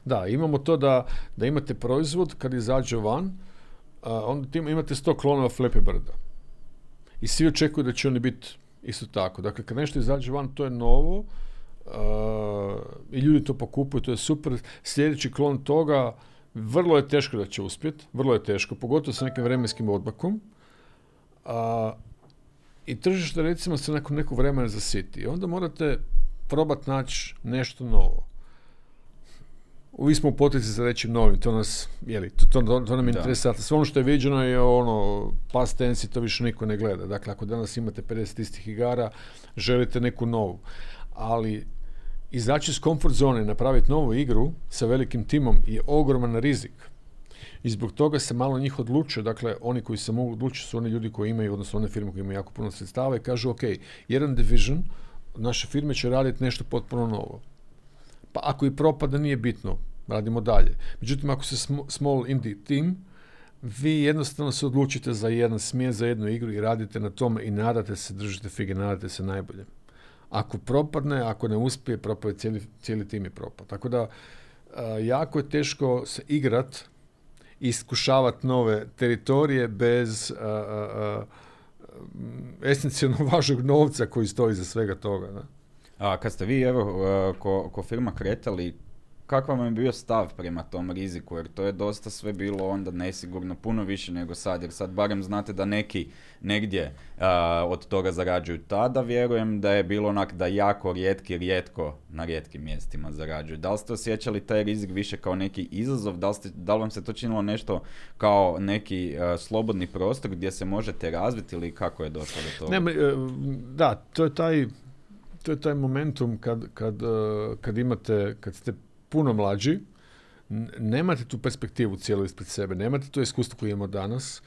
da, imamo to da, da imate proizvod, kad izađe van, uh, onda tim, imate sto klonova Flappy Birda. I svi očekuju da će oni biti isto tako. Dakle, kad nešto izađe van, to je novo uh, i ljudi to pokupuju, to je super. Sljedeći klon toga, vrlo je teško da će uspjeti, vrlo je teško, pogotovo sa nekim vremenskim odmakom. Uh, I tržište, recimo, se nakon nekog vremena zasiti. I onda morate probati naći nešto novo. Vi smo u potici za reći novim, to nas, jeli, to, to, to nam je interesantno. Sve ono što je viđeno je ono, past tense i to više niko ne gleda. Dakle, ako danas imate pedeset istih igara, želite neku novu. Ali izaći iz comfort zone i napraviti novu igru sa velikim timom je ogroman rizik. I zbog toga se malo njih odlučuje. Dakle, oni koji se mogu odlučiti su oni ljudi koji imaju, odnosno one firme koje imaju jako puno sredstava i kažu, ok, jedan division naše firme će raditi nešto potpuno novo. Pa ako i propada, nije bitno, radimo dalje. Međutim, ako se small indie team, vi jednostavno se odlučite za jedan smjer, za jednu igru i radite na tome i nadate se, držite fige, nadate se najbolje. Ako propadne, ako ne uspije, propade cijeli, cijeli tim je propad. Tako da, a, jako je teško se igrat i iskušavati nove teritorije bez a, a, a, esencijalno važnog novca koji stoji za svega toga. Da? A kad ste vi, evo, ko, ko firma kretali, kakav vam je bio stav prema tom riziku, jer to je dosta sve bilo onda nesigurno, puno više nego sad, jer sad barem znate da neki negdje uh, od toga zarađuju. Tada vjerujem da je bilo onak da jako rijetki, rijetko na rijetkim mjestima zarađuju. Da li ste osjećali taj rizik više kao neki izazov, da li, ste, da li vam se to činilo nešto kao neki uh, slobodni prostor gdje se možete razviti ili kako je došlo do toga? Ne, da, to je taj, to je taj momentum kad, kad, uh, kad imate, kad ste puno mlađi, nemate tu perspektivu cijelu ispred sebe, nemate to iskustvo koje imamo danas,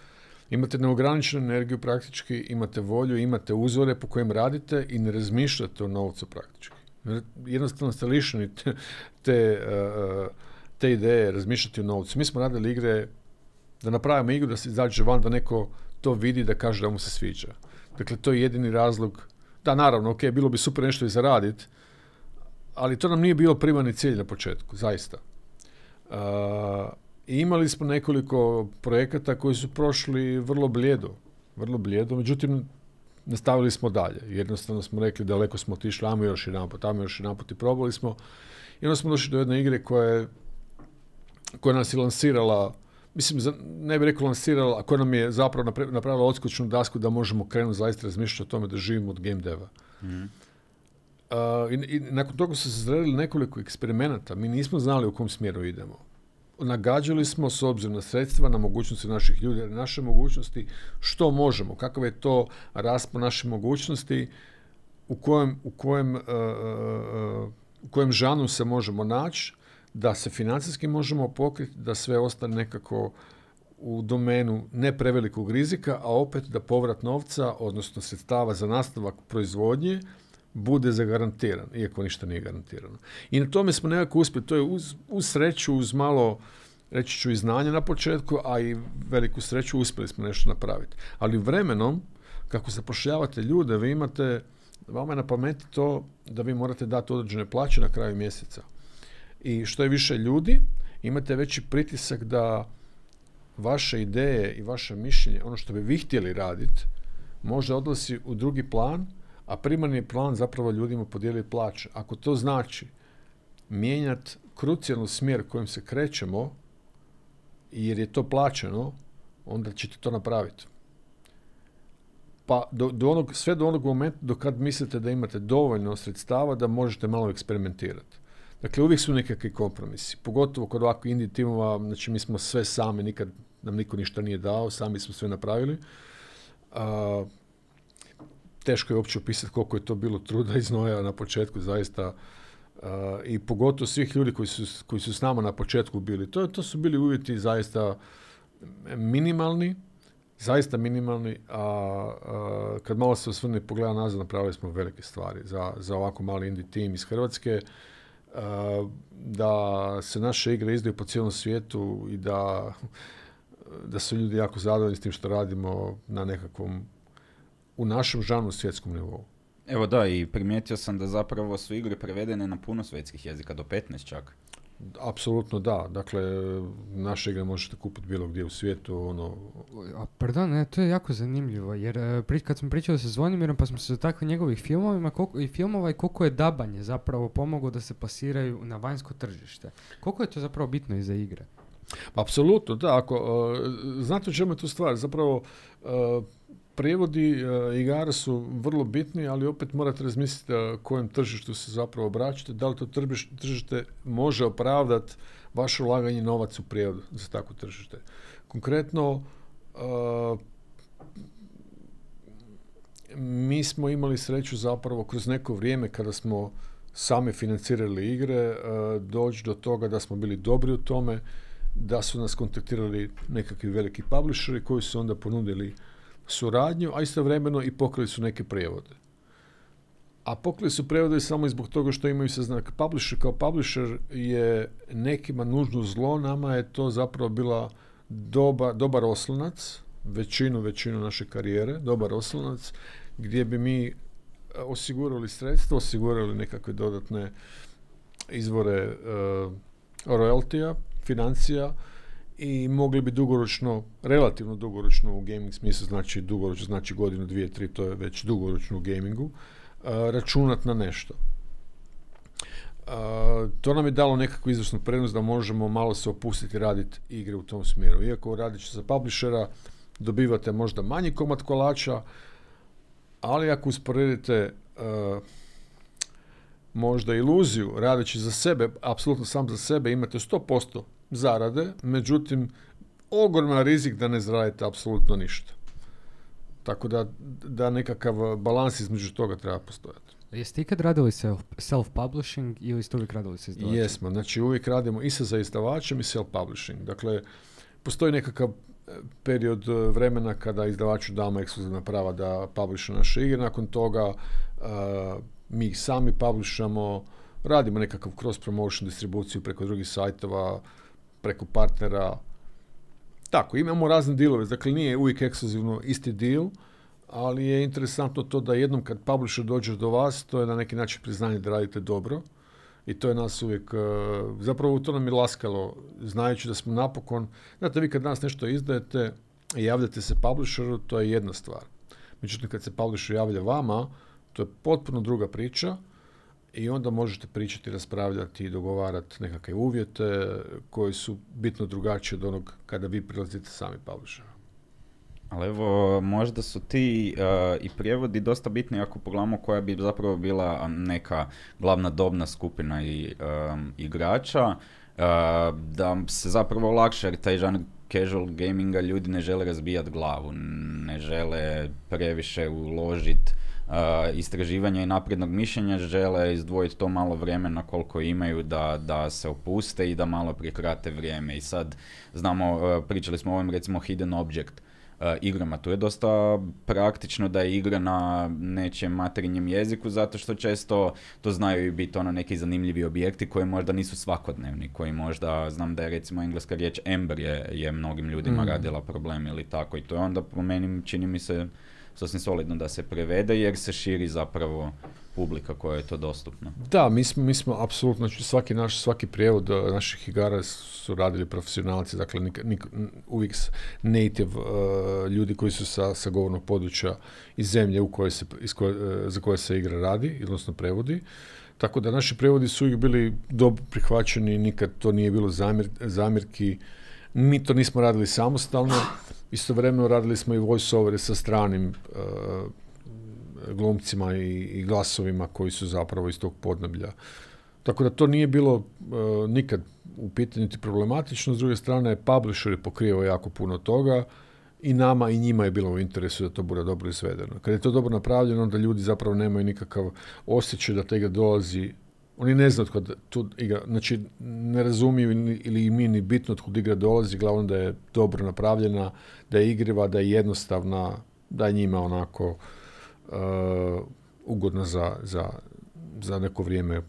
imate neograničenu energiju praktički, imate volju, imate uzore po kojim radite i ne razmišljate o novcu praktički. Jednostavno ste lišeni te, te, te ideje razmišljati o novcu. Mi smo radili igre da napravimo igru, da se izađe van, da neko to vidi, da kaže da mu se sviđa. Dakle, to je jedini razlog. Da, naravno, ok, bilo bi super nešto i zaraditi, ali to nam nije bilo primarni cilj na početku, zaista. Uh, imali smo nekoliko projekata koji su prošli vrlo blijedo, vrlo blijedo, međutim, nastavili smo dalje. Jednostavno smo rekli, daleko smo otišli, ajmo još jedan put, ajmo još jedan put i probali smo. I onda smo došli do jedne igre koja, je, koja nas je lansirala, mislim, ne bih rekao lansirala, a koja nam je zapravo napravila odskočnu dasku da možemo krenuti zaista razmišljati o tome da živimo od game deva. Mm. Uh, i, i nakon toga su se zredili nekoliko eksperimenata. Mi nismo znali u kom smjeru idemo. Nagađali smo s obzirom na sredstva, na mogućnosti naših ljudi, na naše mogućnosti, što možemo, kakav je to raspon naše mogućnosti, u kojem, u kojem, uh, uh, u kojem žanu se možemo naći, da se financijski možemo pokriti, da sve ostane nekako u domenu ne prevelikog rizika, a opet da povrat novca, odnosno sredstava za nastavak proizvodnje, bude zagarantiran, iako ništa nije garantirano. I na tome smo nekako uspjeli. To je uz, uz sreću, uz malo, reći ću, i znanja na početku, a i veliku sreću uspjeli smo nešto napraviti. Ali vremenom, kako zapošljavate ljude, vi imate, vama je na pameti to da vi morate dati određene plaće na kraju mjeseca. I što je više ljudi, imate veći pritisak da vaše ideje i vaše mišljenje, ono što bi vi htjeli raditi, može odlazi u drugi plan, a primarni plan zapravo ljudima podijeli plaće. Ako to znači mijenjati krucijalnu smjer kojim se krećemo, jer je to plaćeno, onda ćete to napraviti. Pa do, do onog, sve do onog momenta do kad mislite da imate dovoljno sredstava da možete malo eksperimentirati. Dakle, uvijek su nekakvi kompromisi. Pogotovo kod ovakvih indie timova, znači mi smo sve sami, nikad nam niko ništa nije dao, sami smo sve napravili. A, teško je uopće opisati koliko je to bilo truda i znoja na početku, zaista. A, I pogotovo svih ljudi koji su, koji su s nama na početku bili. To, to su bili uvjeti zaista minimalni, zaista minimalni, a, a kad malo se osvrne i pogleda nazad, napravili smo velike stvari za, za ovako mali indie tim iz Hrvatske. Uh, da se naše igre izdaju po cijelom svijetu i da, da su ljudi jako zadovoljni s tim što radimo na nekakvom, u našem žanru svjetskom nivou. Evo da, i primijetio sam da zapravo su igre prevedene na puno svjetskih jezika, do petnaest čak. Apsolutno da, dakle naše igre možete kupiti bilo gdje u svijetu. Ono... A pardon, ne, to je jako zanimljivo, jer pri, kad smo pričali sa Zvonimirom pa smo se dotakli njegovih filmovima koliko, i filmova i koliko je dabanje zapravo pomoglo da se plasiraju na vanjsko tržište. Koliko je to zapravo bitno i za igre? Apsolutno, da. Ako, uh, znate o čemu je tu stvar? Zapravo uh, prijevodi uh, igara su vrlo bitni, ali opet morate razmisliti uh, kojem tržištu se zapravo obraćate, da li to tržište može opravdati vaše ulaganje novac u prijevodu za takvo tržište. Konkretno, uh, mi smo imali sreću zapravo kroz neko vrijeme kada smo sami financirali igre, uh, doći do toga da smo bili dobri u tome, da su nas kontaktirali nekakvi veliki publisheri koji su onda ponudili suradnju, a istovremeno i pokrili su neke prijevode. A pokrili su prijevode samo i zbog toga što imaju saznanak. Publisher kao publisher je nekima nužno zlo, nama je to zapravo bila doba, dobar oslonac, većinu, većinu naše karijere, dobar oslonac, gdje bi mi osigurali sredstva, osigurali nekakve dodatne izvore uh, royaltija, financija, i mogli bi dugoročno, relativno dugoročno u gaming smislu, znači dugoročno, znači godinu, dvije, tri, to je već dugoročno u gamingu, uh, računati na nešto. Uh, to nam je dalo nekakvu izvršnu prednost da možemo malo se opustiti i raditi igre u tom smjeru. Iako radići za publishera dobivate možda manji komad kolača, ali ako usporedite uh, možda iluziju radeći za sebe, apsolutno sam za sebe, imate sto posto zarade, međutim, ogroman rizik da ne zaradite apsolutno ništa. Tako da, da nekakav balans između toga treba postojati. Jeste ikad radili self, self-publishing ili ste uvijek radili sa izdavačem? Jesmo, znači uvijek radimo i sa za izdavačem i self-publishing. Dakle, postoji nekakav period vremena kada izdavaču damo ekskluzivna prava da publisha naše igre, nakon toga uh, mi ih sami publishamo, radimo nekakav cross-promotion distribuciju preko drugih sajtova, preko partnera. Tako, imamo razne dealove, dakle nije uvijek ekskluzivno isti deal, ali je interesantno to da jednom kad publisher dođe do vas, to je na neki način priznanje da radite dobro i to je nas uvijek, zapravo to nam je laskalo, znajući da smo napokon, znate vi kad danas nešto izdajete i javljate se publisheru, to je jedna stvar. Međutim, kad se publisher javlja vama, to je potpuno druga priča i onda možete pričati, raspravljati i dogovarati nekakve uvjete koji su bitno drugačiji od onog kada vi prilazite sami publisheru. Ali evo, možda su ti uh, i prijevodi dosta bitni ako pogledamo koja bi zapravo bila neka glavna dobna skupina i um, igrača, uh, da se zapravo lakše, jer taj žanr casual gaminga ljudi ne žele razbijati glavu, ne žele previše uložiti uh, istraživanja i naprednog mišljenja, žele izdvojiti to malo vremena koliko imaju da, da se opuste i da malo prikrate vrijeme. I sad znamo, uh, pričali smo o ovim recimo Hidden Object Uh, igrama. Tu je dosta praktično da je igra na nečijem materinjem jeziku, zato što često to znaju i biti ono neki zanimljivi objekti koji možda nisu svakodnevni, koji možda, znam da je recimo engleska riječ Ember je, je mnogim ljudima mm. radila problem ili tako, i to je onda po meni čini mi se sasvim solidno da se prevede jer se širi zapravo publika koja je to dostupna. Da, mi smo, mi smo apsolutno, znači svaki naš, svaki prijevod uh, naših igara su radili profesionalci, dakle nik, nik, uvijek native uh, ljudi koji su sa, sa govornog područja iz zemlje u kojoj se, iz koje, uh, za koje se igra radi, odnosno prevodi. Tako da naši prevodi su uvijek bili dobro prihvaćeni, nikad to nije bilo zamjer, zamjerki. Mi to nismo radili samostalno, istovremeno radili smo i voice-overe sa stranim uh, glumcima i, i glasovima koji su zapravo iz tog podneblja. Tako da to nije bilo uh, nikad u pitanju niti problematično. S druge strane, publisher je pokrio jako puno toga i nama i njima je bilo u interesu da to bude dobro izvedeno. Kad je to dobro napravljeno, onda ljudi zapravo nemaju nikakav osjećaj da ta igra dolazi. Oni ne znaju od tu igra, znači ne razumiju ili im nije ni bitno od kud igra dolazi, glavno da je dobro napravljena, da je igriva, da je jednostavna, da je njima onako Uh, ugodno za, za, za neko vrijeme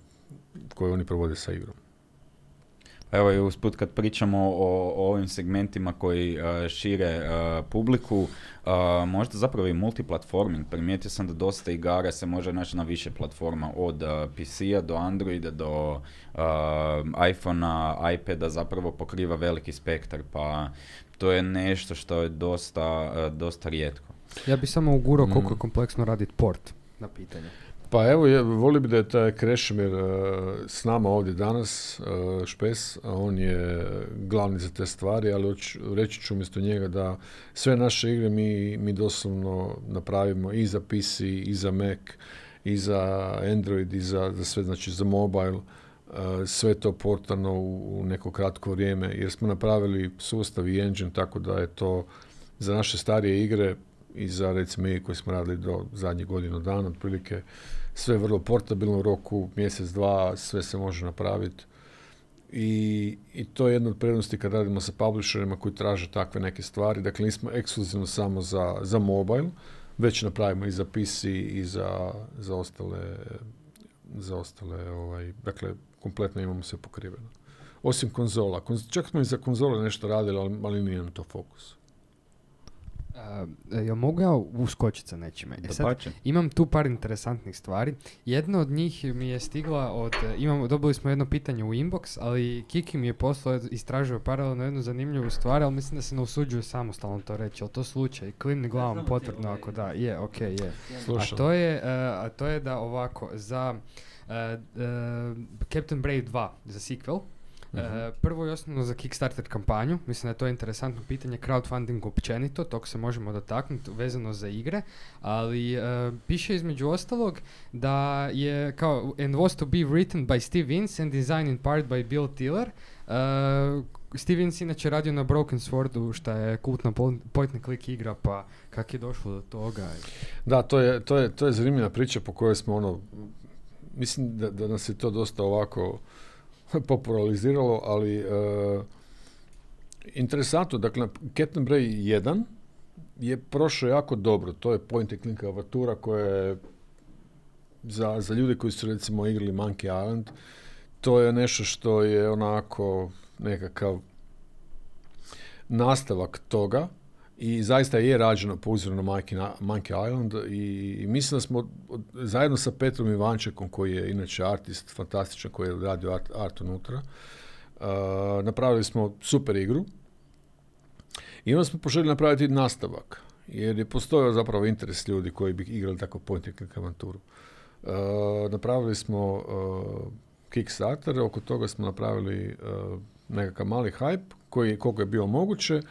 koje oni provode sa igrom. Evo i usput kad pričamo o, o ovim segmentima koji uh, šire uh, publiku, uh, možda zapravo i multiplatforming. Primijetio sam da dosta igara se može naći na više platforma, od uh, P C-a do Androida do uh, iPhone-a, iPada, zapravo pokriva veliki spektar, pa to je nešto što je dosta, uh, dosta rijetko. Ja bih samo ugurao koliko Mm. je kompleksno raditi port na pitanje. Pa evo, ja, volio bi da je taj Krešimir uh, s nama ovdje danas, uh, Špes, a on je glavni za te stvari, ali oč, reći ću umjesto njega da sve naše igre mi, mi doslovno napravimo i za P C, i za Mac, i za Android, i za, za sve, znači za mobile, uh, sve to portano u, u neko kratko vrijeme, jer smo napravili sustav i engine, tako da je to za naše starije igre i za recimo i koji smo radili do zadnjih godinu dana, otprilike sve vrlo portabilno, u roku mjesec, dva, sve se može napraviti. I, i to je jedna od prednosti kad radimo sa publisherima koji traže takve neke stvari. Dakle, nismo ekskluzivno samo za, za mobile, već napravimo i za P C i za, za ostale, za ostale ovaj, dakle, kompletno imamo sve pokriveno. Osim konzola. Konz- čak smo i za konzole nešto radili, ali, ali nije nam to fokus. Uh, jel mogu ja uskočiti sa nečime? E sad, Dapače. imam tu par interesantnih stvari. Jedna od njih mi je stigla od, imamo, dobili smo jedno pitanje u inbox, ali Kiki mi je poslao, istražio paralelno jednu zanimljivu stvar, ali mislim da se ne usuđuje samostalno to reći. Je to slučaj? Klimni glavom potvrdno ako da. Je, ok, je. A to je, uh, a to je da ovako, za uh, uh, Captain Brave dva, za sequel, Uh, prvo i osnovno za Kickstarter kampanju, mislim da je to interesantno pitanje, crowdfunding općenito, tog se možemo dotaknuti vezano za igre, ali uh, piše između ostalog da je kao and was to be written by Steve Ince and designed in part by Bill Tiller. Uh, Steve Ince inače radio na Broken Swordu, što je kultna point and click igra, pa kak je došlo do toga? Da, to je, to je, to je zanimljiva priča po kojoj smo ono, mislim da, da nas je to dosta ovako populariziralo, ali uh, interesantno, dakle, Captain Brave jedan je prošao jako dobro, to je point and click avantura koja je za, za ljude koji su recimo igrali Monkey Island, to je nešto što je onako nekakav nastavak toga i zaista je rađeno po uzoru na Monkey Island i, i mislim da smo od, zajedno sa Petrom Ivančekom, koji je inače artist, fantastičan, koji je radio art, art unutra, uh, napravili smo super igru i onda smo poželjeli napraviti nastavak, jer je postojao zapravo interes ljudi koji bi igrali tako point and click avanturu. Uh, napravili smo uh, Kickstarter, oko toga smo napravili uh, nekakav mali hype, koji koliko je bilo moguće.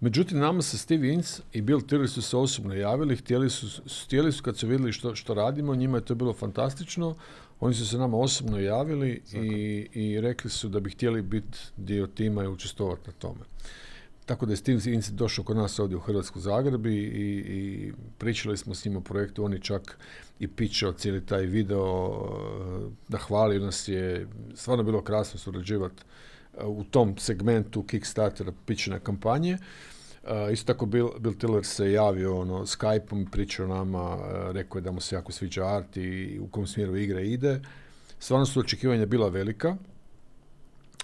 Međutim, nama se Steve Ince i Bill Tiller su se osobno javili, htjeli su, htjeli su kad su vidjeli što, što radimo, njima je to bilo fantastično, oni su se nama osobno javili i, i rekli su da bi htjeli biti dio tima i učestvovati na tome. Tako da je Steve Ince došao kod nas ovdje u Hrvatsku Zagreb i, i pričali smo s njim o projektu, on je čak i pitchao cijeli taj video, da hvali nas je, stvarno bilo krasno surađivati u tom segmentu Kickstartera pitchina kampanje. Uh, isto tako Bill, Bill Tiller se javio ono, Skype-om i pričao nama, uh, rekao je da mu se jako sviđa art i u kom smjeru igra ide. Stvarno su očekivanja bila velika.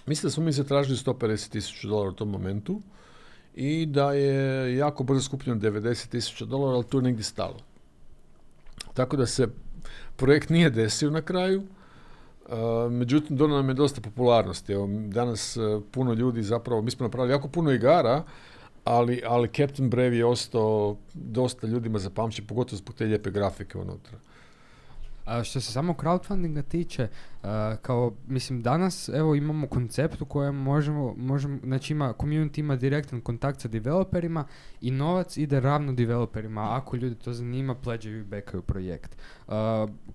Mislim da smo mi zatražili sto pedeset tisuća dolara u tom momentu i da je jako brzo skupljeno devedeset tisuća dolara, ali tu je negdje stalo. Tako da se projekt nije desio na kraju, uh, međutim donio nam je dosta popularnosti. Evo, danas uh, puno ljudi zapravo, mi smo napravili jako puno igara, ali, ali Captain Brave je ostao dosta ljudima zapamćen, pogotovo zbog te lijepe grafike unutra. A što se samo crowdfundinga tiče, uh, kao, mislim, danas, evo, imamo koncept u kojem možemo, možemo, znači ima, community ima direktan kontakt sa developerima i novac ide ravno developerima, ako ljudi to zanima, pleđaju i backaju projekt. Uh,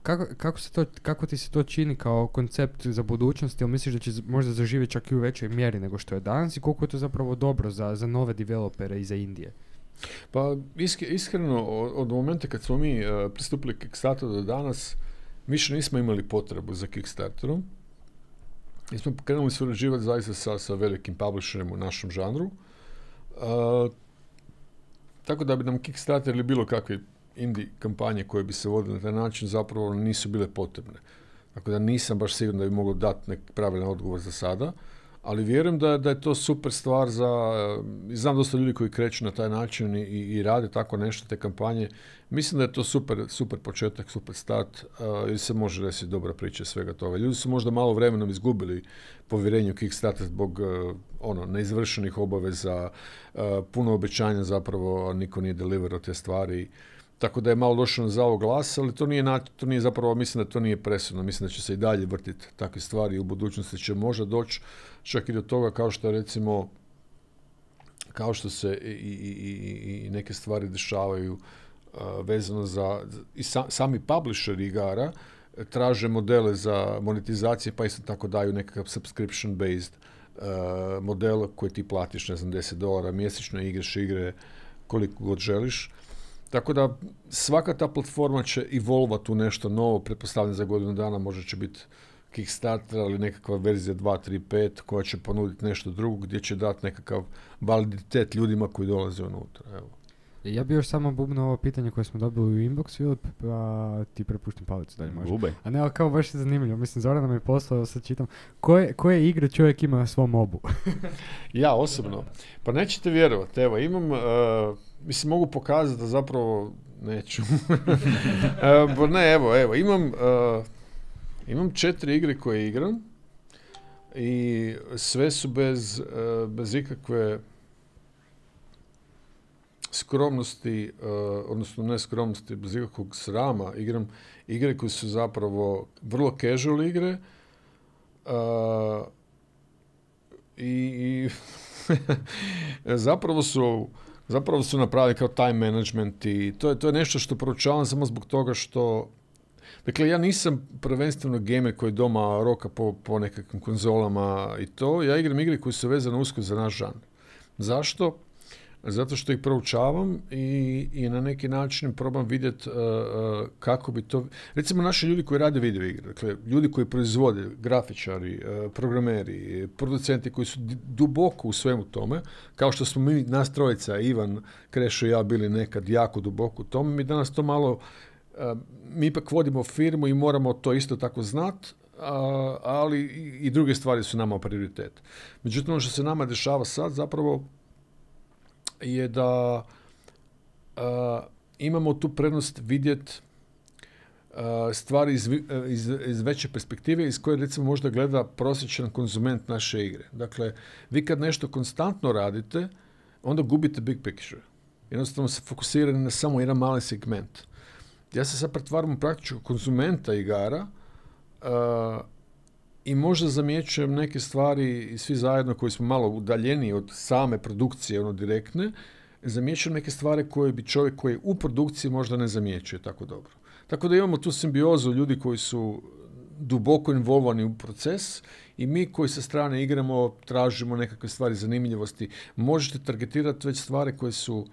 kako, kako, se to, kako ti se to čini kao koncept za budućnost, ili misliš da će možda zaživjeti čak i u većoj mjeri nego što je danas i koliko je to zapravo dobro za, za nove developere i za Indije? Pa iskreno, od momenta kad smo mi uh, pristupili Kickstarteru do danas, mi še nismo imali potrebu za Kickstarterom. Mi smo krenuli surađivati zaista sa, sa velikim publisherima u našem žanru. Uh, tako da bi nam Kickstarter ili bilo kakve indie kampanje koje bi se vodile na taj način zapravo nisu bile potrebne. Tako da nisam baš siguran da bi mogao dati neki pravilan odgovor za sada. Ali vjerujem da, da je to super stvar za... Znam dosta ljudi koji kreću na taj način i, i rade tako nešto, te kampanje. Mislim da je to super, super početak, super start uh, i se može desiti dobra priča svega toga. Ljudi su možda malo vremenom izgubili povjerenje u Kickstarter zbog uh, ono, neizvršenih obaveza, uh, puno obećanja zapravo, a niko nije deliverao te stvari. Tako da je malo došlo na zavog glas, ali to nije, to nije zapravo, mislim da to nije presudno. Mislim da će se i dalje vrtiti takve stvari i u budućnosti će možda doći čak i do toga kao što recimo, kao što se i, i, i, i neke stvari dešavaju uh, vezano za, i sa, sami publisheri igara traže modele za monetizacije, pa isto tako daju nekakav subscription based uh, model koji ti platiš, ne znam, deset dolara mjesečno, igraš igre koliko god želiš. Tako da svaka ta platforma će evolvati u nešto novo, pretpostavljam za godinu dana možda će biti Kickstarter, ali nekakva verzija dva, tri, pet koja će ponuditi nešto drugo gdje će dati nekakav validitet ljudima koji dolaze unutra. Evo. Ja bi još samo bubno ovo pitanje koje smo dobili u inbox, Filip, pa ti prepuštam palicu dalje možda. Bubaj. A ne, ali kao baš je zanimljivo. Mislim, Zoran nam je poslao, sad čitam, koje, koje igre čovjek ima na svom mobu? Ja osobno. Pa nećete vjerovati, evo, imam, uh, mislim, mogu pokazati da zapravo neću. uh, ne, evo, evo, imam, uh, imam četiri igre koje igram i sve su bez, uh, bez ikakve skromnosti, uh, odnosno ne skromnosti, bez ikakvog srama, igram igre koje su zapravo vrlo casual igre uh, i, i zapravo su zapravo su napravili kao time management i to je, to je nešto što proučavam samo zbog toga što, dakle, ja nisam prvenstveno gamer koji doma roka po, po nekakvim konzolama i to, ja igram igre koje su vezane usko za naš žanr. Zašto? Zato što ih proučavam i, i na neki način probam vidjeti uh, uh, kako bi to... Recimo, naši ljudi koji rade video igre, dakle, ljudi koji proizvode, grafičari, uh, programeri, producenti koji su duboko u svemu tome, kao što smo mi, nas trojica, Ivan, Krešo i ja, bili nekad jako duboko u tome, mi danas to malo... Uh, mi ipak vodimo firmu i moramo to isto tako znati, uh, ali i, i druge stvari su nama prioritet. Međutim, ono što se nama dešava sad, zapravo, je da uh, imamo tu prednost vidjeti uh, stvari iz, iz, iz veće perspektive iz koje recimo možda gleda prosječan konzument naše igre. Dakle, vi kad nešto konstantno radite, onda gubite big picture. Jednostavno se fokusirate na samo jedan mali segment. Ja se sad pretvaram u praktičku konzumenta igara uh, i možda zamjećujem neke stvari svi zajedno koji smo malo udaljeni od same produkcije, ono direktne, zamjećujem neke stvari koje bi čovjek koji je u produkciji možda ne zamjećuje tako dobro. Tako da imamo tu simbiozu ljudi koji su duboko involvani u proces i mi koji sa strane igramo, tražimo nekakve stvari zanimljivosti. Možete targetirati već stvari koje su,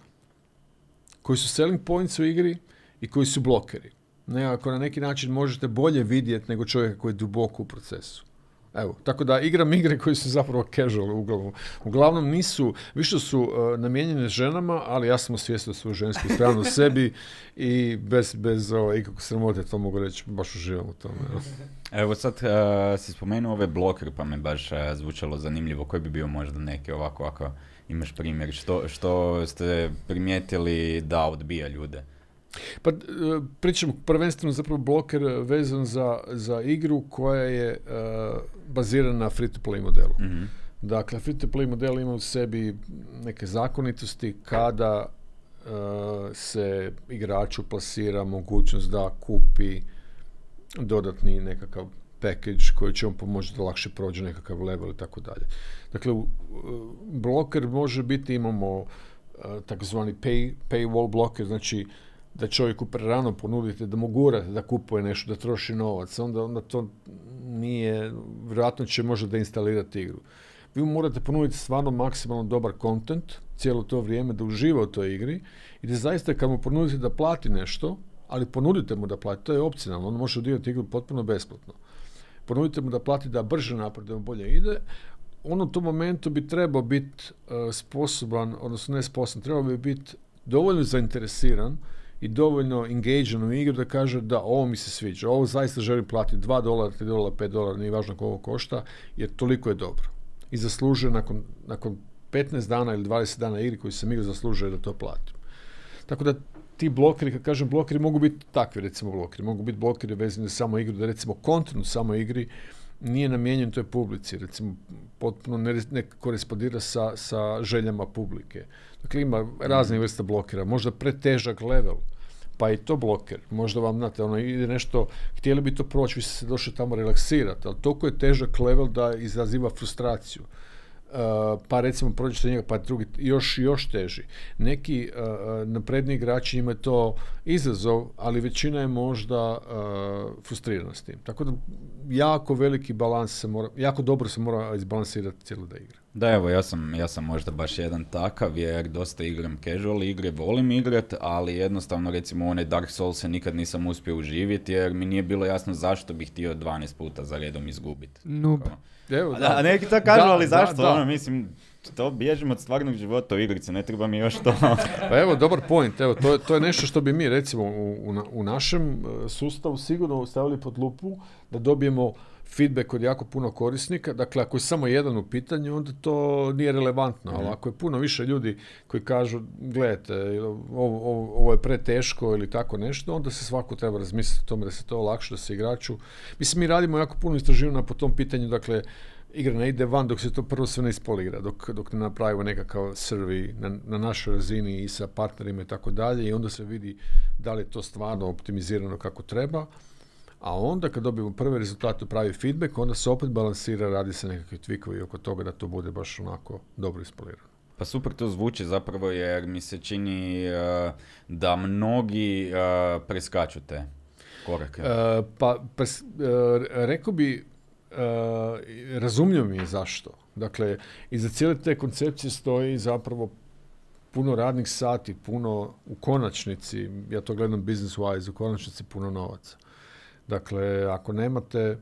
koji su selling points u igri i koji su blokeri. Nekako na neki način možete bolje vidjeti nego čovjeka koji je duboko u procesu. Evo, tako da igram igre koji su zapravo casual uglavnom. Uglavnom nisu, više su uh, namijenjene ženama, ali ja sam osvijestio svoju žensku stranu u sebi i bez, bez uh, ikakve sramote, to mogu reći, baš uživam u tome. Evo, Evo sad uh, si spomenuo ove blokere, pa me baš uh, zvučalo zanimljivo. Koji bi bio možda neki ovako, ovako imaš primjer? Što, što ste primijetili da odbija ljude? Pa pričamo prvenstveno zapravo bloker vezan za, za igru koja je uh, bazirana na free-to-play modelu. Mm-hmm. Dakle, free-to-play model ima u sebi neke zakonitosti kada uh, se igraču plasira mogućnost da kupi dodatni nekakav package koji će mu pomoći da lakše prođe nekakav level i tako dalje. Dakle, uh, bloker može biti, imamo uh, takozvani pay, paywall bloker, znači da čovjeku prerano ponudite, da mu gurate da kupuje nešto, da troši novac, onda, onda to nije, vjerojatno će možda deinstalirati igru. Vi mu morate ponuditi stvarno maksimalno dobar content cijelo to vrijeme, da uživa u toj igri i da zaista kad mu ponudite da plati nešto, ali ponudite mu da plati, to je opcionalno, on može odigrati igru potpuno besplatno. Ponudite mu da plati da brže napreduje, da bolje ide, on u tom momentu bi trebao biti uh, sposoban, odnosno ne sposoban, trebao bi biti dovoljno zainteresiran i dovoljno engagean u igru da kaže da ovo mi se sviđa, ovo zaista želim platiti dva dolara, tri dolara, pet dolara, nije važno koliko košta, jer toliko je dobro. I zaslužuje nakon, nakon petnaest dana ili dvadeset dana igri koji sam igrao, zaslužuje da to platim. Tako da ti blokeri, kad kažem blokeri, mogu biti takvi, recimo blokeri, mogu biti blokeri vezani za samo igru, da recimo kontent u samoj igri nije namijenjen toj publici, recimo potpuno ne, ne korespondira sa, sa željama publike. Dakle, ima razne vrste blokera, možda pretežak level, pa i to bloker. Možda vam, znate, ono ide nešto, htjeli bi to proći, vi ste se došli tamo relaksirati, ali toliko je težak level da izaziva frustraciju. Uh, pa recimo prođete njega, pa drugi još još teži. Neki uh, napredni igrači imaju to izazov, ali većina je možda uh, frustrirana s tim. Tako da jako veliki balans se mora, jako dobro se mora izbalansirati cijela da igra. Da, evo, ja sam, ja sam možda baš jedan takav, jer dosta igram casual igre, volim igrat, ali jednostavno, recimo, one Dark Souls nikad nisam uspio uživjeti, jer mi nije bilo jasno zašto bih htio dvanaest puta za redom izgubiti. Noob. Evo, da, a neki to kažu, da, ali zašto? Da, da. Ono, mislim, to bježim od stvarnog života u igrici, ne treba mi još to. Pa evo, dobar point. Evo, to, je, to je nešto što bi mi, recimo, u, u, u našem sustavu sigurno stavili pod lupu, da dobijemo feedback od jako puno korisnika. Dakle, ako je samo jedan u pitanju, onda to nije relevantno. Ali ako je puno više ljudi koji kažu, gledajte, ovo, ovo, ovo je preteško ili tako nešto, onda se svako treba razmisliti o tome da se to olakša, da se igraču. Mislim, mi radimo jako puno istraživanja po tom pitanju, dakle, igra ne ide van dok se to prvo sve ne ispoligra, dok, dok ne napravimo nekakav survey na, na našoj razini i sa partnerima i tako dalje, i onda se vidi da li je to stvarno optimizirano kako treba. A onda kad dobijemo prve rezultate, pravi feedback, onda se opet balansira, radi se nekakvi twikovi oko toga da to bude baš onako dobro ispolirano. Pa super to zvuči zapravo, jer mi se čini uh, da mnogi uh, preskaču te korake. Uh, pa pres, uh, rekao bi, uh, razumljivo mi je zašto. Dakle, iza cijele te koncepcije stoji zapravo puno radnih sati, puno u konačnici, ja to gledam business wise, u konačnici puno novaca. Dakle, ako nemate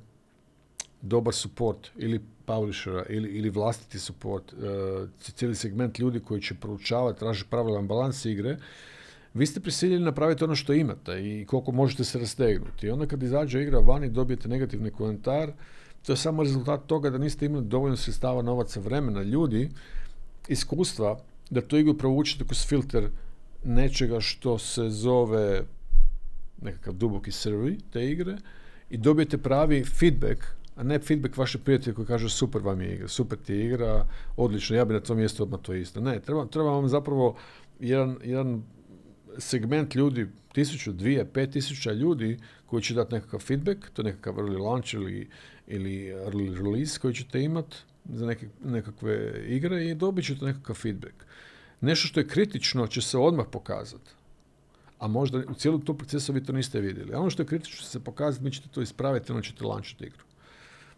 dobar support ili publishera ili, ili vlastiti support, uh, cijeli segment ljudi koji će proučavati, tražiti pravilan balans igre, vi ste prisiljeni napraviti ono što imate i koliko možete se rastegnuti. I onda kad izađe igra van i dobijete negativni komentar, to je samo rezultat toga da niste imali dovoljno sredstava, novaca, vremena, ljudi, iskustva, da tu igru provučete kroz filter nečega što se zove nekakav duboki survey te igre i dobijete pravi feedback, a ne feedback vaše prijatelje koji kažu super vam je igra, super ti je igra, odlično, ja bi na tom mjestu odmah to isto. Ne, treba, treba vam zapravo jedan, jedan segment ljudi, tisuću, dvije, pet tisuća ljudi koji će dati nekakav feedback, to je nekakav early launch ili, ili early release koji ćete imati za neke, nekakve igre i dobit ćete nekakav feedback. Nešto što je kritično će se odmah pokazati. A možda u cijelom tom procesu vi to niste vidjeli. A ono što je kritično će se pokazati, mi ćete to ispraviti, ono ćete lančiti igru.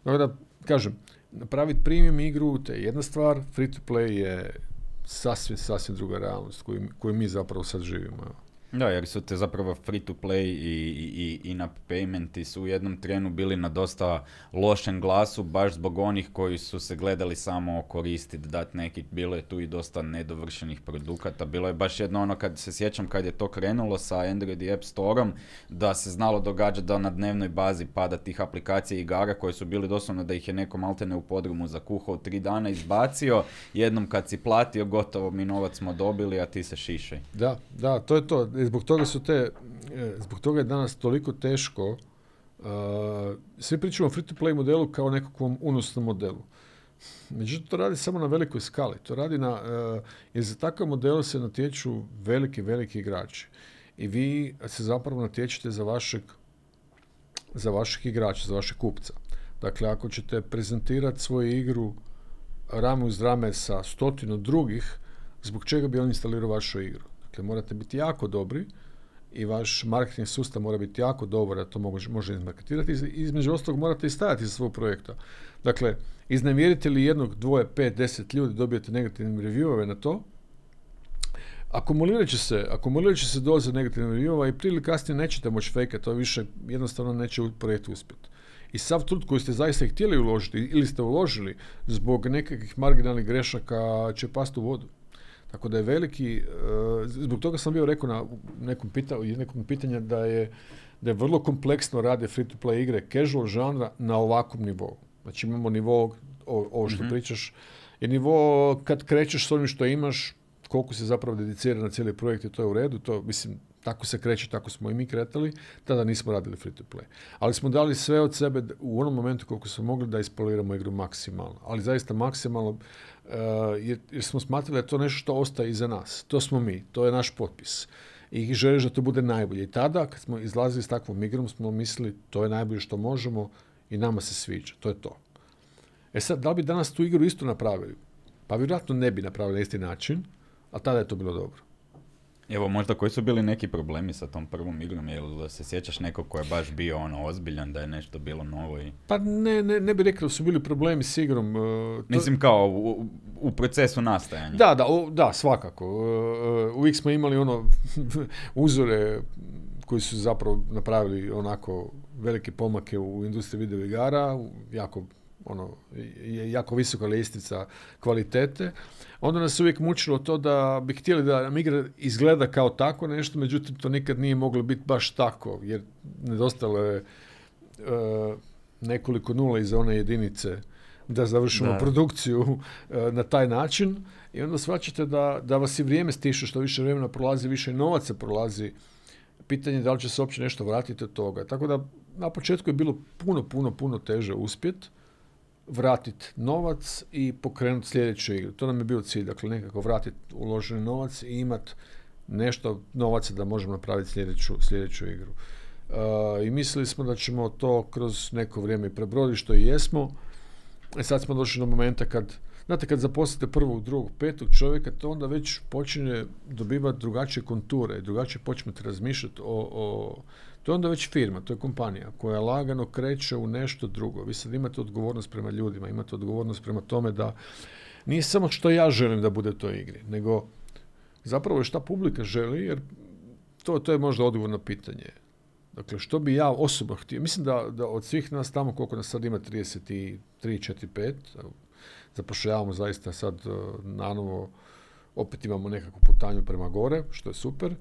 Dakle da, kažem, napraviti premium igru, to je jedna stvar, free to play je sasvim, sasvim druga realnost koju, koju mi zapravo sad živimo. Da, jer su te zapravo free to play i, i, i in-app paymenti su u jednom trenu bili na dosta lošem glasu, baš zbog onih koji su se gledali samo koristiti, dati neki, bilo je tu i dosta nedovršenih produkata, bilo je baš jedno ono, kad se sjećam kad je to krenulo sa Android i App Store-om, da se znalo događati da na dnevnoj bazi pada tih aplikacija i igara koje su bili doslovno da ih je neko maltene u podrumu zakuhao tri dana, izbacio, jednom kad si platio, gotovo mi novac smo dobili, a ti se šišaj. Da, da, to je to. Zbog toga su te, zbog toga je danas toliko teško. Uh, svi pričamo o free-to-play modelu kao nekakvom unosnom modelu. Međutim, to radi samo na velikoj skali. To radi na, uh, jer za takav model se natječu veliki, veliki igrači. I vi se zapravo natječete za vašeg, za vašeg igrača, za vašeg kupca. Dakle, ako ćete prezentirati svoju igru rame uz rame sa stotinu drugih, zbog čega bi on instalirao vašu igru? Dakle, morate biti jako dobri i vaš marketing sustav mora biti jako dobar da to može, može izmarketirati. Između ostalog morate i stajati za svog projekta. Dakle, iznevjerite li jednog, dvoje, pet, deset ljudi, dobijete negativne reviewove na to, akumulirat će se, akumulirat će se doza negativnih reviewova i prije ili kasnije nećete moći fejkati, to više jednostavno neće u projektu uspjeti. I sav trud koji ste zaista htjeli uložiti ili ste uložili zbog nekakvih marginalnih grešaka će pasti u vodu. Tako da je veliki, uh, zbog toga sam bio rekao na nekom, pita, nekom pitanja da je, da je vrlo kompleksno rade free-to-play igre, casual žanra na ovakvom nivou. Znači imamo nivo, ovo što mm-hmm. pričaš, je nivo kad krećeš s onim što imaš, koliko se zapravo dedicira na cijeli projekt i to je u redu, to mislim, tako se kreće, tako smo i mi kretali, tada nismo radili free-to-play. Ali smo dali sve od sebe u onom momentu koliko smo mogli da ispoliramo igru maksimalno. Ali zaista maksimalno, uh, jer, jer smo smatrali da je to nešto što ostaje iza nas. To smo mi, to je naš potpis. I želiš da to bude najbolje. I tada, kad smo izlazili s takvom igrom, smo mislili to je najbolje što možemo i nama se sviđa. To je to. E sad, da li bi danas tu igru isto napravili? Pa vjerojatno ne bi napravili na isti način, a tada je to bilo dobro. Evo, možda koji su bili neki problemi sa tom prvom igrom, jel se sjećaš nekog ko je baš bio ono ozbiljan, da je nešto bilo novo i... Pa ne, ne, ne bih rekao da su bili problemi s igrom. Uh, to... Mislim kao u, u procesu nastajanja. Da, da, o, da, svakako. Uh, uvijek smo imali ono uzore koji su zapravo napravili onako velike pomake u industriji video igara, jako ono, je jako visoka ljestvica kvalitete. Onda nas uvijek mučilo to da bi htjeli da nam igra izgleda kao tako nešto, međutim to nikad nije moglo biti baš tako, jer nedostalo je uh, nekoliko nula iza one jedinice da završimo da. produkciju uh, na taj način i onda shvaćate da, da vas i vrijeme stiše, što više vremena prolazi, više novaca prolazi. Pitanje je da li će se uopće nešto vratiti od toga. Tako da na početku je bilo puno, puno, puno teže uspjeti vratiti novac i pokrenuti sljedeću igru. To nam je bio cilj, dakle nekako vratiti uloženi novac i imati nešto novaca da možemo napraviti sljedeću, sljedeću igru. Uh, I mislili smo da ćemo to kroz neko vrijeme prebroditi, što i jesmo. I sad smo došli do momenta kad, znate, kad zaposlite prvog, drugog, petog čovjeka, to onda već počinje dobivati drugačije konture i drugačije počnete razmišljati o, o to je onda već firma, to je kompanija koja lagano kreće u nešto drugo. Vi sad imate odgovornost prema ljudima, imate odgovornost prema tome da nije samo što ja želim da bude u toj igri, nego zapravo je šta publika želi, jer to, to je možda odgovor na pitanje. Dakle, što bi ja osobno htio? Mislim da, da od svih nas tamo, koliko nas sad ima, trideset tri, četiri, pet, zapošljavamo zaista sad nanovo, opet imamo nekakvu putanju prema gore, što je super,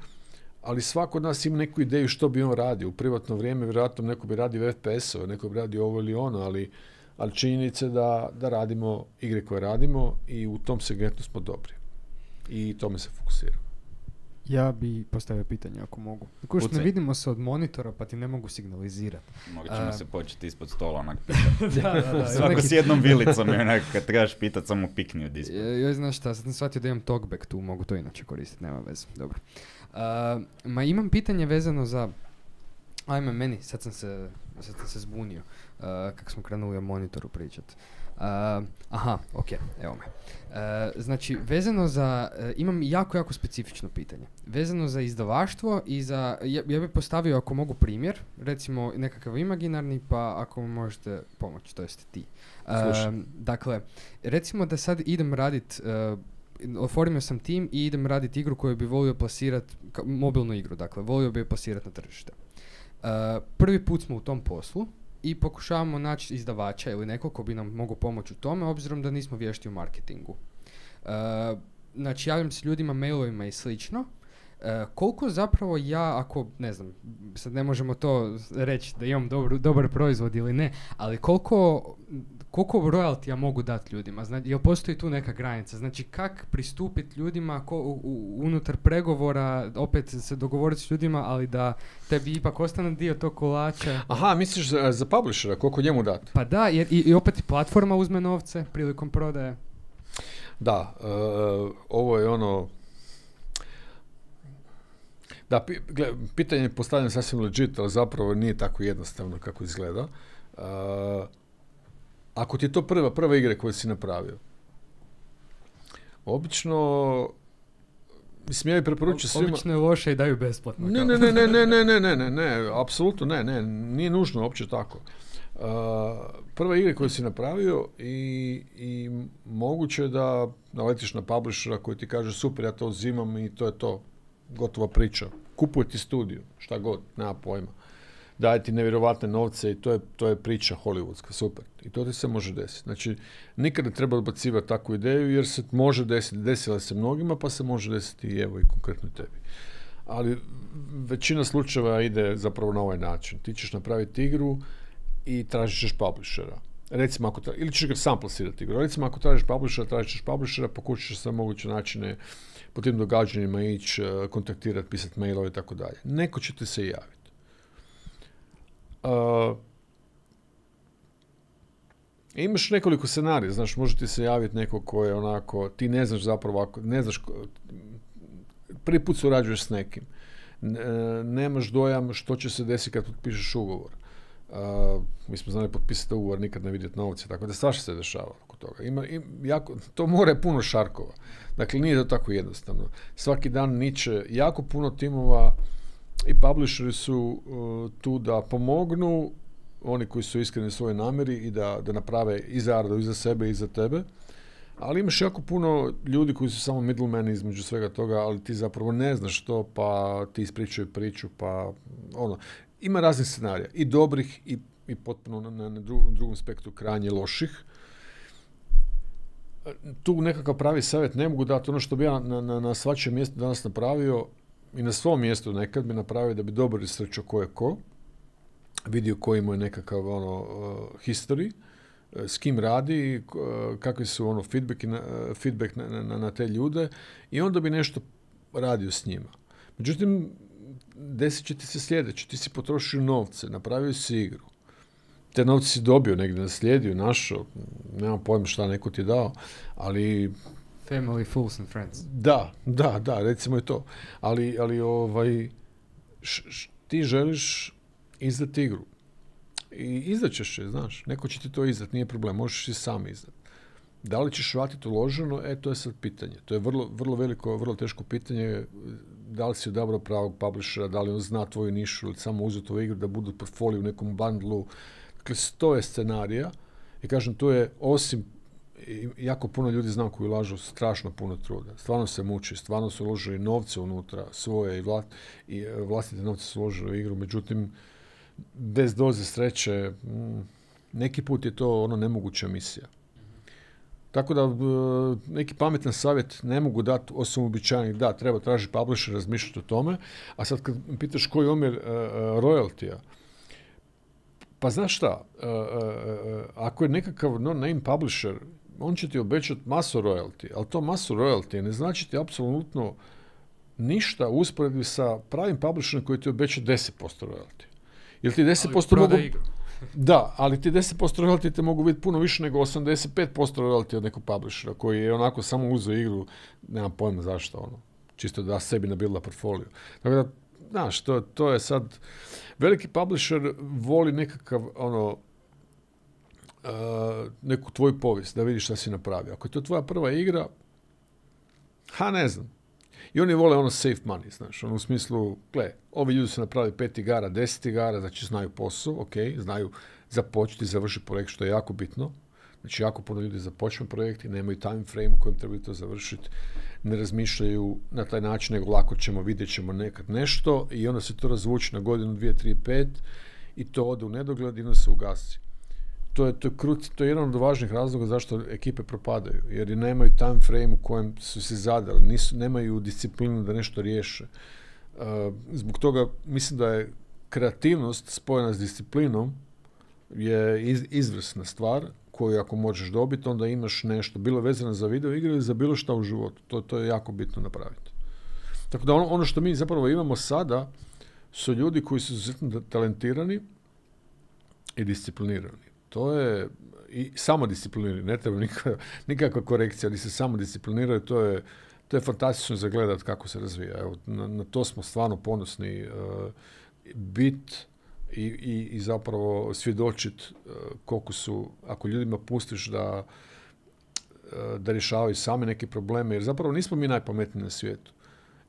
ali svako od nas ima neku ideju što bi on radio. U privatno vrijeme vjerojatno neko bi radio F P S-ove, neko bi radio ovo ili ono, ali, ali činjenice da, da radimo igre koje radimo i u tom segmentu smo dobri. I tome se fokusiramo. Ja bi postavio pitanje ako mogu. Tako što ne vidimo se od monitora pa ti ne mogu signalizirati. Morat ćemo uh, se početi ispod stola onak pitati. da, da, da. Svako neki... s jednom vilicom je onak kad trebaš pitati samo pikni od ispod. Joj, znaš šta, sad sam shvatio da imam talkback tu, mogu to inače koristiti, nema veze. Dobro. Uh, ma imam pitanje vezano za... Ajme, meni, sad sam se, sad sam se zbunio uh, kako smo krenuli o monitoru pričati. Uh, aha, ok, evo me. Uh, znači, vezano za, uh, imam jako, jako specifično pitanje. Vezano za izdavaštvo i za, ja, ja bih postavio ako mogu primjer, recimo nekakav imaginarni, pa ako možete pomoći, to jest ti. Uh, dakle, recimo da sad idem radit uh, oformio sam tim i idem raditi igru koju bi volio plasirati, mobilnu igru, dakle, volio bi je plasirati na tržište. Uh, prvi put smo u tom poslu i pokušavamo naći izdavača ili nekog ko bi nam mogao pomoći u tome, obzirom da nismo vješti u marketingu. Uh, znači, javljam se ljudima mailovima i slično. Uh, koliko zapravo ja, ako, ne znam, sad ne možemo to reći da imam dobar, dobar proizvod ili ne, ali koliko, koliko royalty ja mogu dati ljudima? Znači, jel postoji tu neka granica? Znači, kak pristupiti ljudima ko, u, u, unutar pregovora, opet se dogovoriti s ljudima, ali da tebi ipak ostane dio tog kolača? Aha, misliš za, za publishera, koliko njemu dati? Pa da, jer i, i opet i platforma uzme novce prilikom prodaje. Da, uh, ovo je ono... Da, pi, gle, pitanje je postavljeno sasvim legit, ali zapravo nije tako jednostavno kako izgleda. Uh, ako ti je to prva, prva igra koju si napravio, obično, mislim, ja bih preporučio svima... Obično je loše i daju besplatno. Ne, ne, ne, ne, ne, ne, ne, ne, ne, ne, apsolutno ne, ne, nije nužno uopće tako. Uh, prva igra koju si napravio i, i moguće da naletiš na publishera koji ti kaže super, ja to uzimam i to je to. Gotova priča. Kupuje ti studiju, šta god, nema pojma. Daje ti nevjerovatne novce i to je, to je priča hollywoodska, super. I to ti se može desiti. Znači, nikad ne treba odbacivati takvu ideju jer se može desiti, desila se mnogima, pa se može desiti i evo i konkretno tebi. Ali većina slučajeva ide zapravo na ovaj način. Ti ćeš napraviti igru i tražit ćeš publishera. Recimo, ako tra... ili ćeš ga sam plasirati igru. Recimo, ako tražiš publishera, tražit ćeš publishera, pokušat ćeš sve moguće načine po tim događanjima ići, kontaktirati, pisati mailove i tako dalje. Neko će ti se javiti. Uh, imaš nekoliko scenarija, znaš, može ti se javiti neko ko je onako, ti ne znaš zapravo, ako, ne znaš, prvi put surađuješ s nekim, ne, nemaš dojam što će se desiti kad potpišeš ugovor. Uh, mi smo znali potpisati ugovor, nikad ne vidjeti novce, tako da svašta se dešava oko toga. Ima, im, jako, to more je puno šarkova. Dakle, nije to tako jednostavno. Svaki dan niče jako puno timova i publisheri su uh, tu da pomognu, oni koji su iskreni u svojoj namjeri i da, da naprave i zaradu i za sebe i za tebe. Ali imaš jako puno ljudi koji su samo middlemani između svega toga, ali ti zapravo ne znaš što, pa ti ispričaju priču, pa ono... Ima raznih scenarija, i dobrih i, i potpuno na, na, na drugom spektru krajnje loših. Tu nekakav pravi savjet ne mogu dati. Ono što bi ja na, na, na svačem mjestu danas napravio i na svom mjestu nekad bi napravio da bi dobro istračio ko je ko, vidio koji mu je nekakav ono, uh, history, uh, s kim radi, uh, kakvi su ono feedback, na, uh, feedback na, na, na te ljude i onda bi nešto radio s njima. Međutim, desit će ti se sljedeće, ti si potrošio novce, napravio si igru. Te novce si dobio negdje, naslijedio, našao, nemam pojma šta neko ti je dao, ali... Family, fools and friends. Da, da, da, recimo je to. Ali, ali ovaj, š, š, ti želiš izdati igru. I izdaćeš je, znaš, neko će ti to izdati, nije problem, možeš i sam izdati. Da li ćeš vratiti uloženo, e, to je sad pitanje. To je vrlo, vrlo veliko, vrlo teško pitanje. Da li si odabrao pravog publishera, da li on zna tvoju nišu ili samo uzeo tvoju igru da budu portfolio u nekom bundlu. Dakle, sto je scenarija i kažem, to je osim, jako puno ljudi znam koji ulažu strašno puno truda. Stvarno se muči, stvarno su uložili novce unutra, svoje i, vla, i vlastite novce su uložili u igru, međutim, bez doze sreće, neki put je to ono nemoguća misija. Tako da neki pametan savjet ne mogu dati osim uobičajenih, da, treba tražiti publisher, razmišljati o tome, a sad kad pitaš koji je omjer uh, royaltija, pa znaš šta, uh, uh, ako je nekakav no-name publisher, on će ti obećati masu royalty, ali to masu royalty ne znači ti apsolutno ništa u usporedbi sa pravim publisherom koji ti obeća deset posto royalty. Ili ti deset posto mogu... Igru. Da, ali ti deset posto royalty te mogu biti puno više nego osamdeset pet posto royalty od nekog publishera koji je onako samo uzeo igru, nemam pojma zašto, ono, čisto da sebi nabilda portfolio. Tako da, znaš, to, to je sad, veliki publisher voli nekakav, ono, uh, neku tvoju povijest, da vidiš šta si napravio. Ako je to tvoja prva igra, ha, ne znam. I oni vole ono safe money, znaš, ono u smislu, gle, ovi ljudi su napravili pet igara, deset igara, znači znaju posao, ok, znaju započeti, završiti projekt, što je jako bitno. Znači, jako puno ljudi započne projekti, nemaju time frame u kojem trebaju to završiti, ne razmišljaju na taj način, nego lako ćemo, vidjet ćemo nekad nešto i onda se to razvuči na godinu, dvije, tri, pet i to ode u nedogled i onda se ugasi. To je, to je, kruci, to je jedan od važnih razloga zašto ekipe propadaju, jer nemaju time frame u kojem su se zadali, nisu, nemaju disciplinu da nešto riješe. Uh, zbog toga mislim da je kreativnost spojena s disciplinom je iz, izvrsna stvar koju ako možeš dobiti, onda imaš nešto, bilo vezano za video igre ili za bilo šta u životu. To, to je jako bitno napraviti. Tako da ono, ono što mi zapravo imamo sada su ljudi koji su izuzetno talentirani i disciplinirani. To je i samodisciplinirani, ne treba nikakva, nikakva korekcija, ali se samodiscipliniraju, to je, to je fantastično za gledat kako se razvija. Evo, na, na to smo stvarno ponosni. Uh, bit i, i, i zapravo svjedočit uh, koliko su, ako ljudima pustiš da, uh, da rješavaju sami neke probleme, jer zapravo nismo mi najpametniji na svijetu.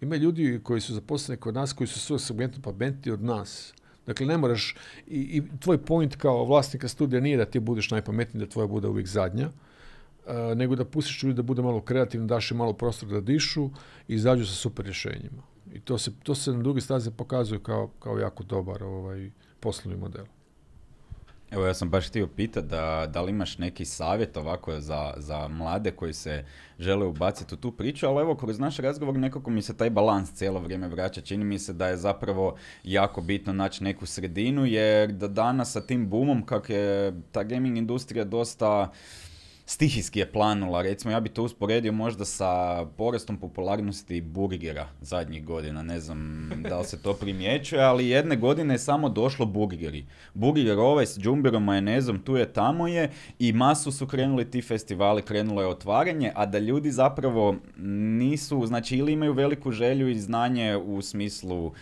Ima ljudi koji su zaposleni kod nas, koji su svoj segmentu pametniji od nas. Dakle, ne moraš, i, i tvoj point kao vlasnika studija nije da ti budeš najpametniji, da tvoja bude uvijek zadnja, uh, nego da pustiš ljudi da bude malo kreativno, daš im malo prostor da dišu i izađu sa super rješenjima. I to se, to se na druge staze pokazuje kao, kao jako dobar ovaj, poslovni model. Evo, ja sam baš htio pitati da, da li imaš neki savjet ovako za, za mlade koji se žele ubaciti u tu priču, ali evo, kroz naš razgovor nekako mi se taj balans cijelo vrijeme vraća. Čini mi se da je zapravo jako bitno naći neku sredinu, jer da danas sa tim boomom, kak je ta gaming industrija dosta stihijski je planula, recimo ja bi to usporedio možda sa porastom popularnosti burgera zadnjih godina, ne znam da li se to primjećuje, ali jedne godine je samo došlo burgeri. Burger ovaj s džumberom, majonezom, tu je, tamo je i masu su krenuli ti festivali, krenulo je otvaranje, a da ljudi zapravo nisu, znači ili imaju veliku želju i znanje u smislu uh,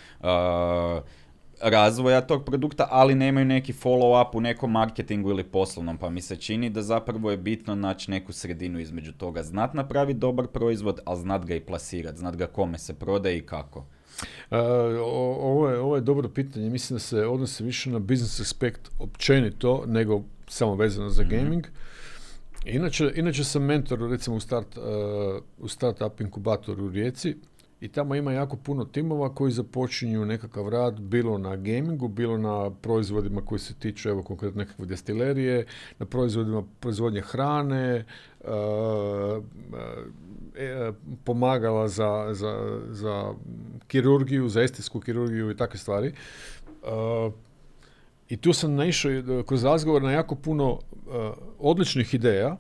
razvoja tog produkta, ali nemaju neki follow-up u nekom marketingu ili poslovnom, pa mi se čini da zapravo je bitno naći neku sredinu između toga. Znat napraviti dobar proizvod, ali znat ga i plasirati, znat ga kome se prodaje i kako. Uh, ovo, je, ovo je dobro pitanje. Mislim da se odnosi više na business aspekt općenito, nego samo vezano za mm-hmm. gaming. Inače, inače sam mentor, recimo u, start, uh, u startup inkubatoru u Rijeci, i tamo ima jako puno timova koji započinju nekakav rad, bilo na gamingu, bilo na proizvodima koji se tiču, evo konkretno nekakve destilerije, na proizvodima proizvodnje hrane, uh, uh, pomagala za, za, za kirurgiju, za estetsku kirurgiju i takve stvari. Uh, I tu sam naišao kroz razgovor na jako puno uh, odličnih ideja,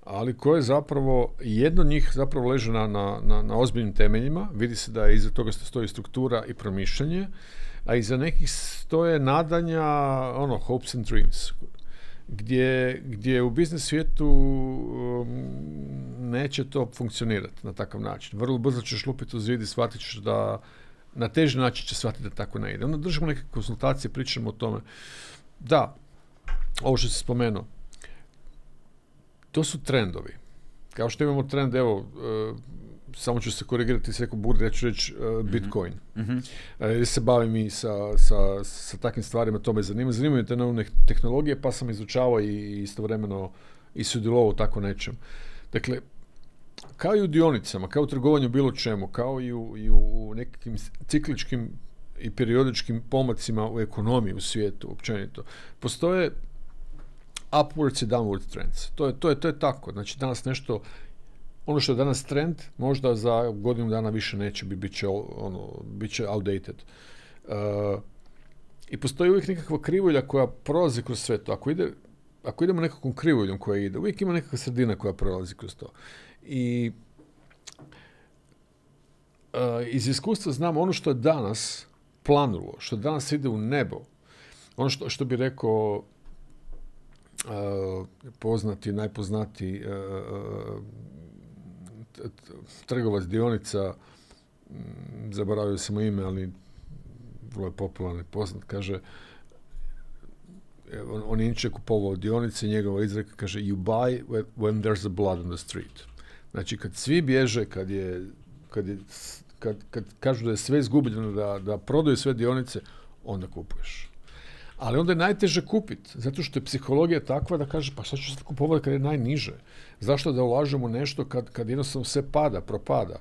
ali koje zapravo, jedno od njih zapravo leže na, na, na, na ozbiljnim temeljima, vidi se da iza toga stoji struktura i promišljanje, a iza nekih stoje nadanja, ono, hopes and dreams, gdje, gdje u biznis svijetu um, neće to funkcionirati na takav način. Vrlo brzo ćeš lupiti uz zid i shvatit ćeš da na teži način će shvatiti da tako ne ide. Onda držimo neke konsultacije, pričamo o tome. Da, ovo što si spomenuo, to su trendovi. Kao što imamo trend, evo, uh, samo ću se korigirati, se rekao burger, ja ću reći uh, Bitcoin. Mm-hmm. Uh, jer se bavim i sa, sa, sa takvim stvarima, to me zanima. Zanimaju te nove tehnologije, pa sam izučavao i istovremeno i sudjelovao u tako nečem. Dakle, kao i u dionicama, kao u trgovanju bilo čemu, kao i u, i u nekakvim cikličkim i periodičkim pomacima u ekonomiji, u svijetu, općenito, postoje upwards i downward trends. To je, to je, to je tako. Znači, danas nešto, ono što je danas trend, možda za godinu dana više neće biti, bit će, ono, bit će outdated. Uh, I postoji uvijek nekakva krivulja koja prolazi kroz sve to. Ako, ide, ako idemo nekakvom krivuljom koja ide, uvijek ima nekakva sredina koja prolazi kroz to. I uh, iz iskustva znam ono što je danas planulo, što danas ide u nebo, ono što, što bi rekao Uh, poznati, najpoznati uh, t- t- trgovac dionica, m, zaboravio sam ime, ali vrlo je popularni, poznat, kaže, on, on je inače kupovao dionice, njegova izreka kaže, you buy when there's a blood on the street. Znači, kad svi bježe, kad je, kad je, kad, kad kažu da je sve izgubljeno, da, da prodaju sve dionice, onda kupuješ. Ali onda je najteže kupiti, zato što je psihologija takva da kaže, pa šta ću sad kupovati kad je najniže? Zašto da ulažemo nešto kad, kad jednostavno sve pada, propada?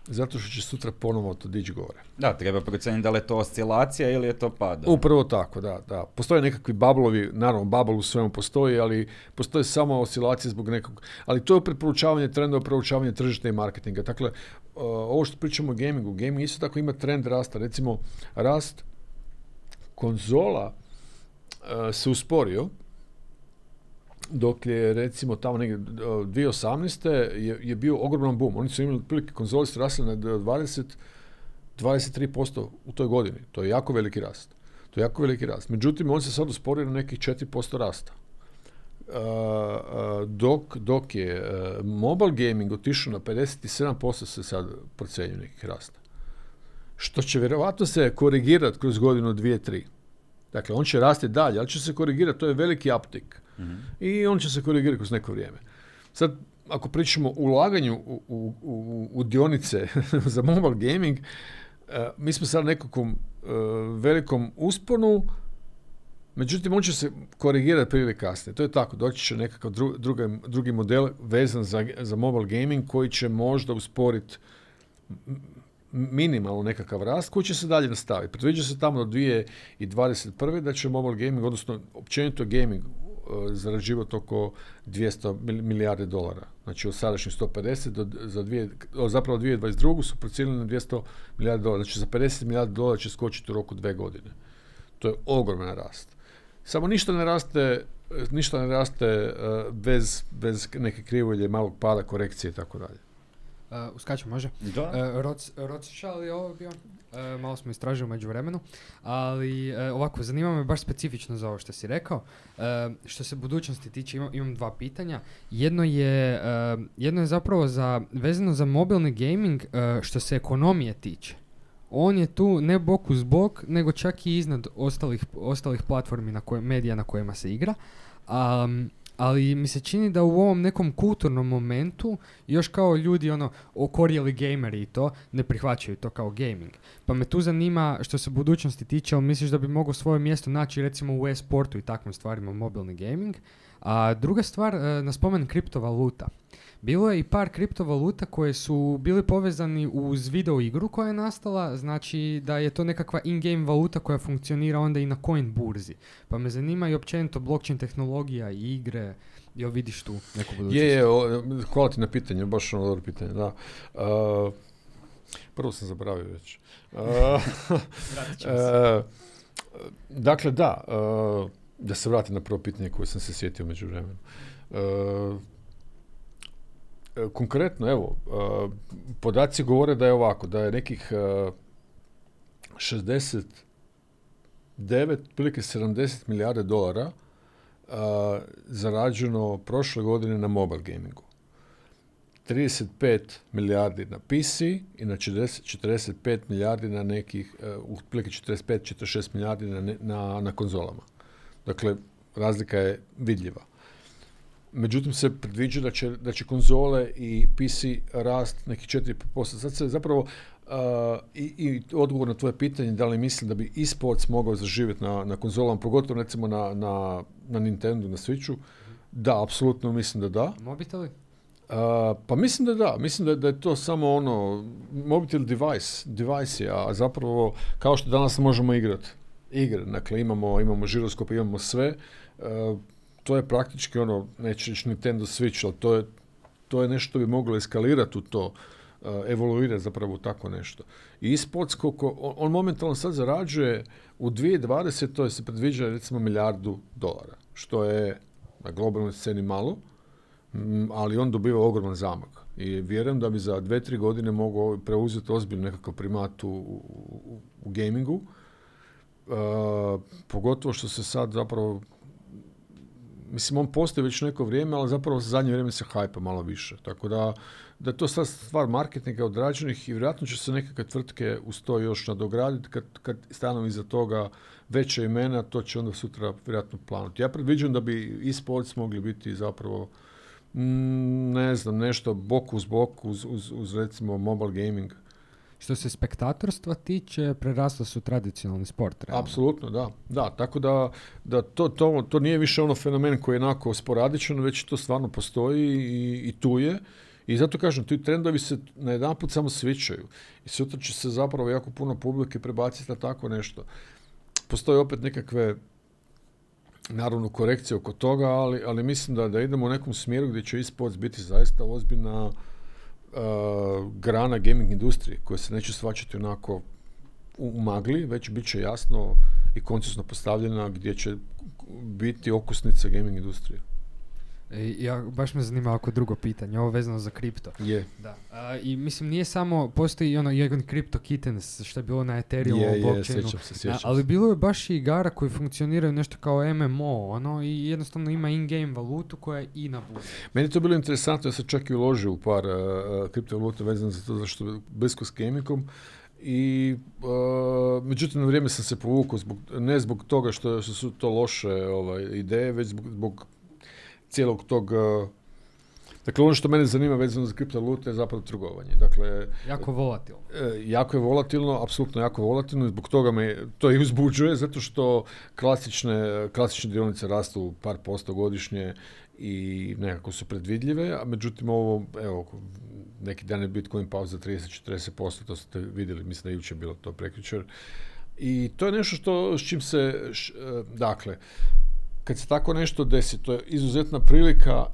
Zato što će sutra ponovo to dići gore. Da, treba procijeniti da li je to oscilacija ili je to pada. Upravo tako, da, da. Postoje nekakvi bablovi, naravno bubble u svemu postoji, ali postoje samo oscilacije zbog nekog. Ali to je preporučavanje trendova, preporučavanje tržišta i marketinga. Dakle, uh, ovo što pričamo o gamingu, gaming isto tako ima trend rasta. Recimo, rast konzola uh, se usporio, dok je recimo tamo negdje dvije tisuće osamnaeste je, je bio ogroman boom. Oni su imali otprilike konzole su rasle na dvadeset do dvadeset tri posto u toj godini. To je jako veliki rast. To je jako veliki rast. Međutim, on se sad usporio na nekih četiri posto rasta. Uh, uh, dok, dok je uh, mobile gaming otišao na pedeset sedam posto se sad procjenjuje nekih rasta. Što će vjerovatno se korigirati kroz godinu, dvije, tri. Dakle, on će rasti dalje, ali će se korigirati. To je veliki uptick. Mm-hmm. I on će se korigirati kroz neko vrijeme. Sad, ako pričamo o ulaganju u, u, u, u dionice za mobile gaming, uh, mi smo sad nekakvom uh, velikom usponu, međutim, on će se korigirati prije ili kasnije. To je tako, doći će nekakav dru, druga, drugi model vezan za, za mobile gaming koji će možda usporiti minimalno nekakav rast koji će se dalje nastaviti. Predviđa se tamo do dvije tisuće dvadeset prve da će mobile gaming, odnosno općenito gaming, zarađivati oko dvjesto milijardi dolara. Znači od sadašnjih sto pedeset do za dvije, zapravo dvije tisuće dvadeset druge su procijenili na dvjesto milijardi dolara. Znači za pedeset milijardi dolara će skočiti u roku dve godine. To je ogroman rast. Samo ništa ne raste, ništa ne raste uh, bez, bez neke krivolje, malog pada, korekcije i tako dalje. Uh, uskačem, može? Da. Uh, Roc, Rothschild je ovo bio? Uh, malo smo istražili u međuvremenu, ali uh, ovako, zanima me baš specifično za ovo što si rekao. Uh, što se budućnosti tiče, imam, imam dva pitanja. Jedno je, uh, jedno je zapravo za, vezano za mobilni gaming uh, što se ekonomije tiče. On je tu ne bok uz bok, nego čak i iznad ostalih, ostalih platformi na koje, medija na kojima se igra. Um, ali mi se čini da u ovom nekom kulturnom momentu još kao ljudi ono okorjeli gameri i to ne prihvaćaju to kao gaming. Pa me tu zanima što se budućnosti tiče, ali misliš da bi mogao svoje mjesto naći recimo u e-sportu i takvim stvarima mobilni gaming? A druga stvar, na spomen kriptovaluta. Bilo je i par kriptovaluta koje su bili povezani uz video igru koja je nastala, znači da je to nekakva in-game valuta koja funkcionira onda i na coin burzi. Pa me zanima i općenito blockchain tehnologija i igre, jel vidiš tu neku budućnost? Je, je, o, hvala ti na pitanje, baš ono dobro pitanje, da. Uh, prvo sam zaboravio već. Uh, uh, dakle, da, uh, da se vratim na prvo pitanje koje sam se sjetio među vremenu. Uh, Konkretno, evo, uh, podaci govore da je ovako, da je nekih uh, šezdeset devet, prilike sedamdeset milijarde dolara uh, zarađeno prošle godine na mobile gamingu. trideset pet milijardi na P C i na četrdeset, četrdeset pet milijardi na nekih, uh, prilike četrdeset pet do četrdeset šest milijardi na, na, na konzolama. Dakle, razlika je vidljiva. Međutim, se predviđa da će, da će konzole i P C rast nekih četiri posto. Sad se zapravo, uh, i, i odgovor na tvoje pitanje, da li mislim da bi e-sports mogao zaživjeti na, na konzolama, pogotovo recimo na, na, na Nintendo, na Switchu, da, apsolutno mislim da da. Mobiteli? Uh, pa mislim da da, mislim da, da je to samo ono, mobitel device, device je, a zapravo kao što danas možemo igrati igre, dakle imamo, imamo žiroskop, imamo sve, uh, to je praktički ono, neću reći Nintendo Switch, ali to je, to je nešto što bi moglo eskalirati u to, uh, evoluirati zapravo u tako nešto. I e-sports, koliko, on, on momentalno sad zarađuje u dvije tisuće dvadesetoj to je se predviđa recimo milijardu dolara, što je na globalnoj sceni malo, m, ali on dobiva ogroman zamak. I vjerujem da bi za dve, tri godine mogao preuzeti ozbiljno nekakav primat u, u, u gamingu, uh, pogotovo što se sad zapravo, mislim, on postoji već neko vrijeme, ali zapravo za zadnje vrijeme se hajpa malo više. Tako da, da je to sad stvar marketinga odrađenih i vjerojatno će se nekakve tvrtke uz to još nadograditi. Kad, kad stanu iza toga veća imena, to će onda sutra vjerojatno planuti. Ja predviđam da bi e-sports mogli biti zapravo, mm, ne znam, nešto bok uz bok uz, uz, uz recimo mobile gaming. što se spektatorstva tiče, prerasla su tradicionalni sport. Realno. Apsolutno, da. Da, tako da, da to, to, to nije više ono fenomen koji je onako sporadičan, već to stvarno postoji i, i tu je. I zato kažem, ti trendovi se na jedan put samo svičaju. I sutra će se zapravo jako puno publike prebaciti na tako nešto. Postoje opet nekakve, naravno, korekcije oko toga, ali, ali mislim da, da idemo u nekom smjeru gdje će e-sports biti zaista ozbiljna uh, grana gaming industrije, koja se neće shvaćati onako u, u magli, već bit će jasno i koncizno postavljena gdje će biti okusnica gaming industrije. E, ja, baš me zanima oko drugo pitanje, ovo vezano za kripto. Je. Da. A, I mislim, nije samo, postoji ono jedan Crypto Kittens, što je bilo na Ethereum, je, blockchainu, je, sjećam se, sjećam a, ali bilo je baš i igara koji funkcioniraju nešto kao M M O, ono, i jednostavno ima in-game valutu koja je i na burzi. Meni je to bilo interesantno, ja sam čak i uložio u par uh, kriptovaluta vezano za to, zašto je blisko s gamingom. I uh, međutim na vrijeme sam se povukao, zbog, ne zbog toga što, što su to loše ovaj, ideje, već zbog, zbog cijelog tog... Uh, dakle, ono što mene zanima vezano za kriptovalute je zapravo trgovanje. Dakle, jako volatilno. E, jako je volatilno, apsolutno jako volatilno i zbog toga me to i uzbuđuje, zato što klasične, klasične dionice rastu par posto godišnje i nekako su predvidljive, a međutim ovo, evo, neki dan je Bitcoin pao za trideset do četrdeset posto, to ste vidjeli, mislim da je jučer bilo to prekjučer. I to je nešto što, s čim se, š, dakle, kad se tako nešto desi, to je izuzetna prilika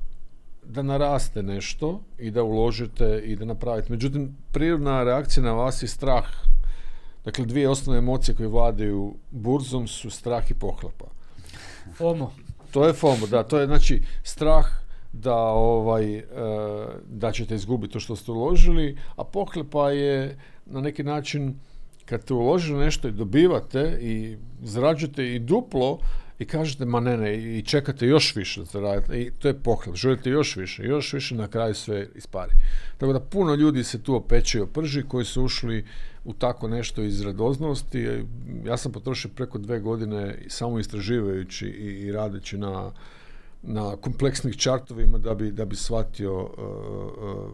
da naraste nešto i da uložite i da napravite. Međutim, prirodna reakcija na vas je strah. Dakle, dvije osnovne emocije koje vladaju burzom su strah i pohlepa. FOMO. To je FOMO, da. To je, znači, strah da, ovaj, da ćete izgubiti to što ste uložili, a pohlepa je na neki način kad ste uložili nešto i dobivate i zarađujete i duplo, i kažete, ma ne, ne, i čekate još više da zaradite, i to je pohlep, želite još više, još više, na kraju sve ispari. Tako da puno ljudi se tu opeče i oprži koji su ušli u tako nešto iz radoznosti. Ja sam potrošio preko dve godine samo istraživajući i, i radeći na, na kompleksnih čartovima da bi, da bi shvatio uh, uh,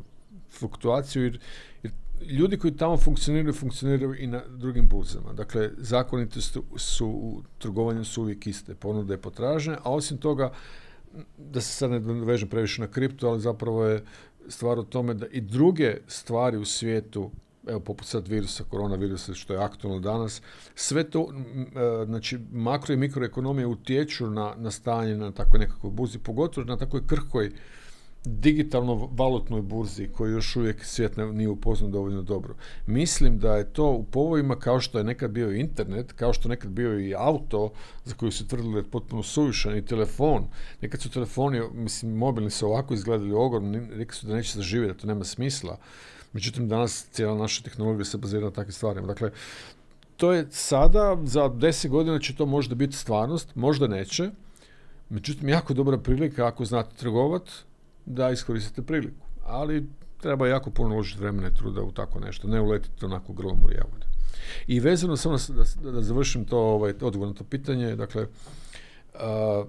fluktuaciju, jer, jer ljudi koji tamo funkcioniraju, funkcioniraju i na drugim burzama. Dakle, zakonitosti su, su u trgovanju su uvijek iste, ponude i potražnje, a osim toga, da se sad ne vežem previše na kripto, ali zapravo je stvar u tome da i druge stvari u svijetu, evo poput sad virusa, koronavirusa, što je aktualno danas, sve to, znači makro i mikroekonomije utječu na, na stanje na takvoj nekakvoj burzi, pogotovo na takvoj krhkoj digitalno valutnoj burzi koju još uvijek svijet nije upoznao dovoljno dobro. Mislim da je to u povojima kao što je nekad bio internet, kao što je nekad bio i auto za koji su tvrdili da je potpuno suvišan, i telefon. Nekad su telefoni, mislim, mobilni su ovako izgledali ogromni, rekli su da neće zaživjeti, da to nema smisla. Međutim, danas cijela naša tehnologija se bazira na takvim stvarima. Dakle, to je sada, za deset godina će to možda biti stvarnost, možda neće. Međutim, jako dobra prilika ako znate trgovati, da iskoristite priliku. Ali treba jako puno uložiti vremena i truda u tako nešto, ne uletiti onako grlom u jagode. I vezano samo da, da završim to, ovaj, odgovor na to pitanje, dakle, uh,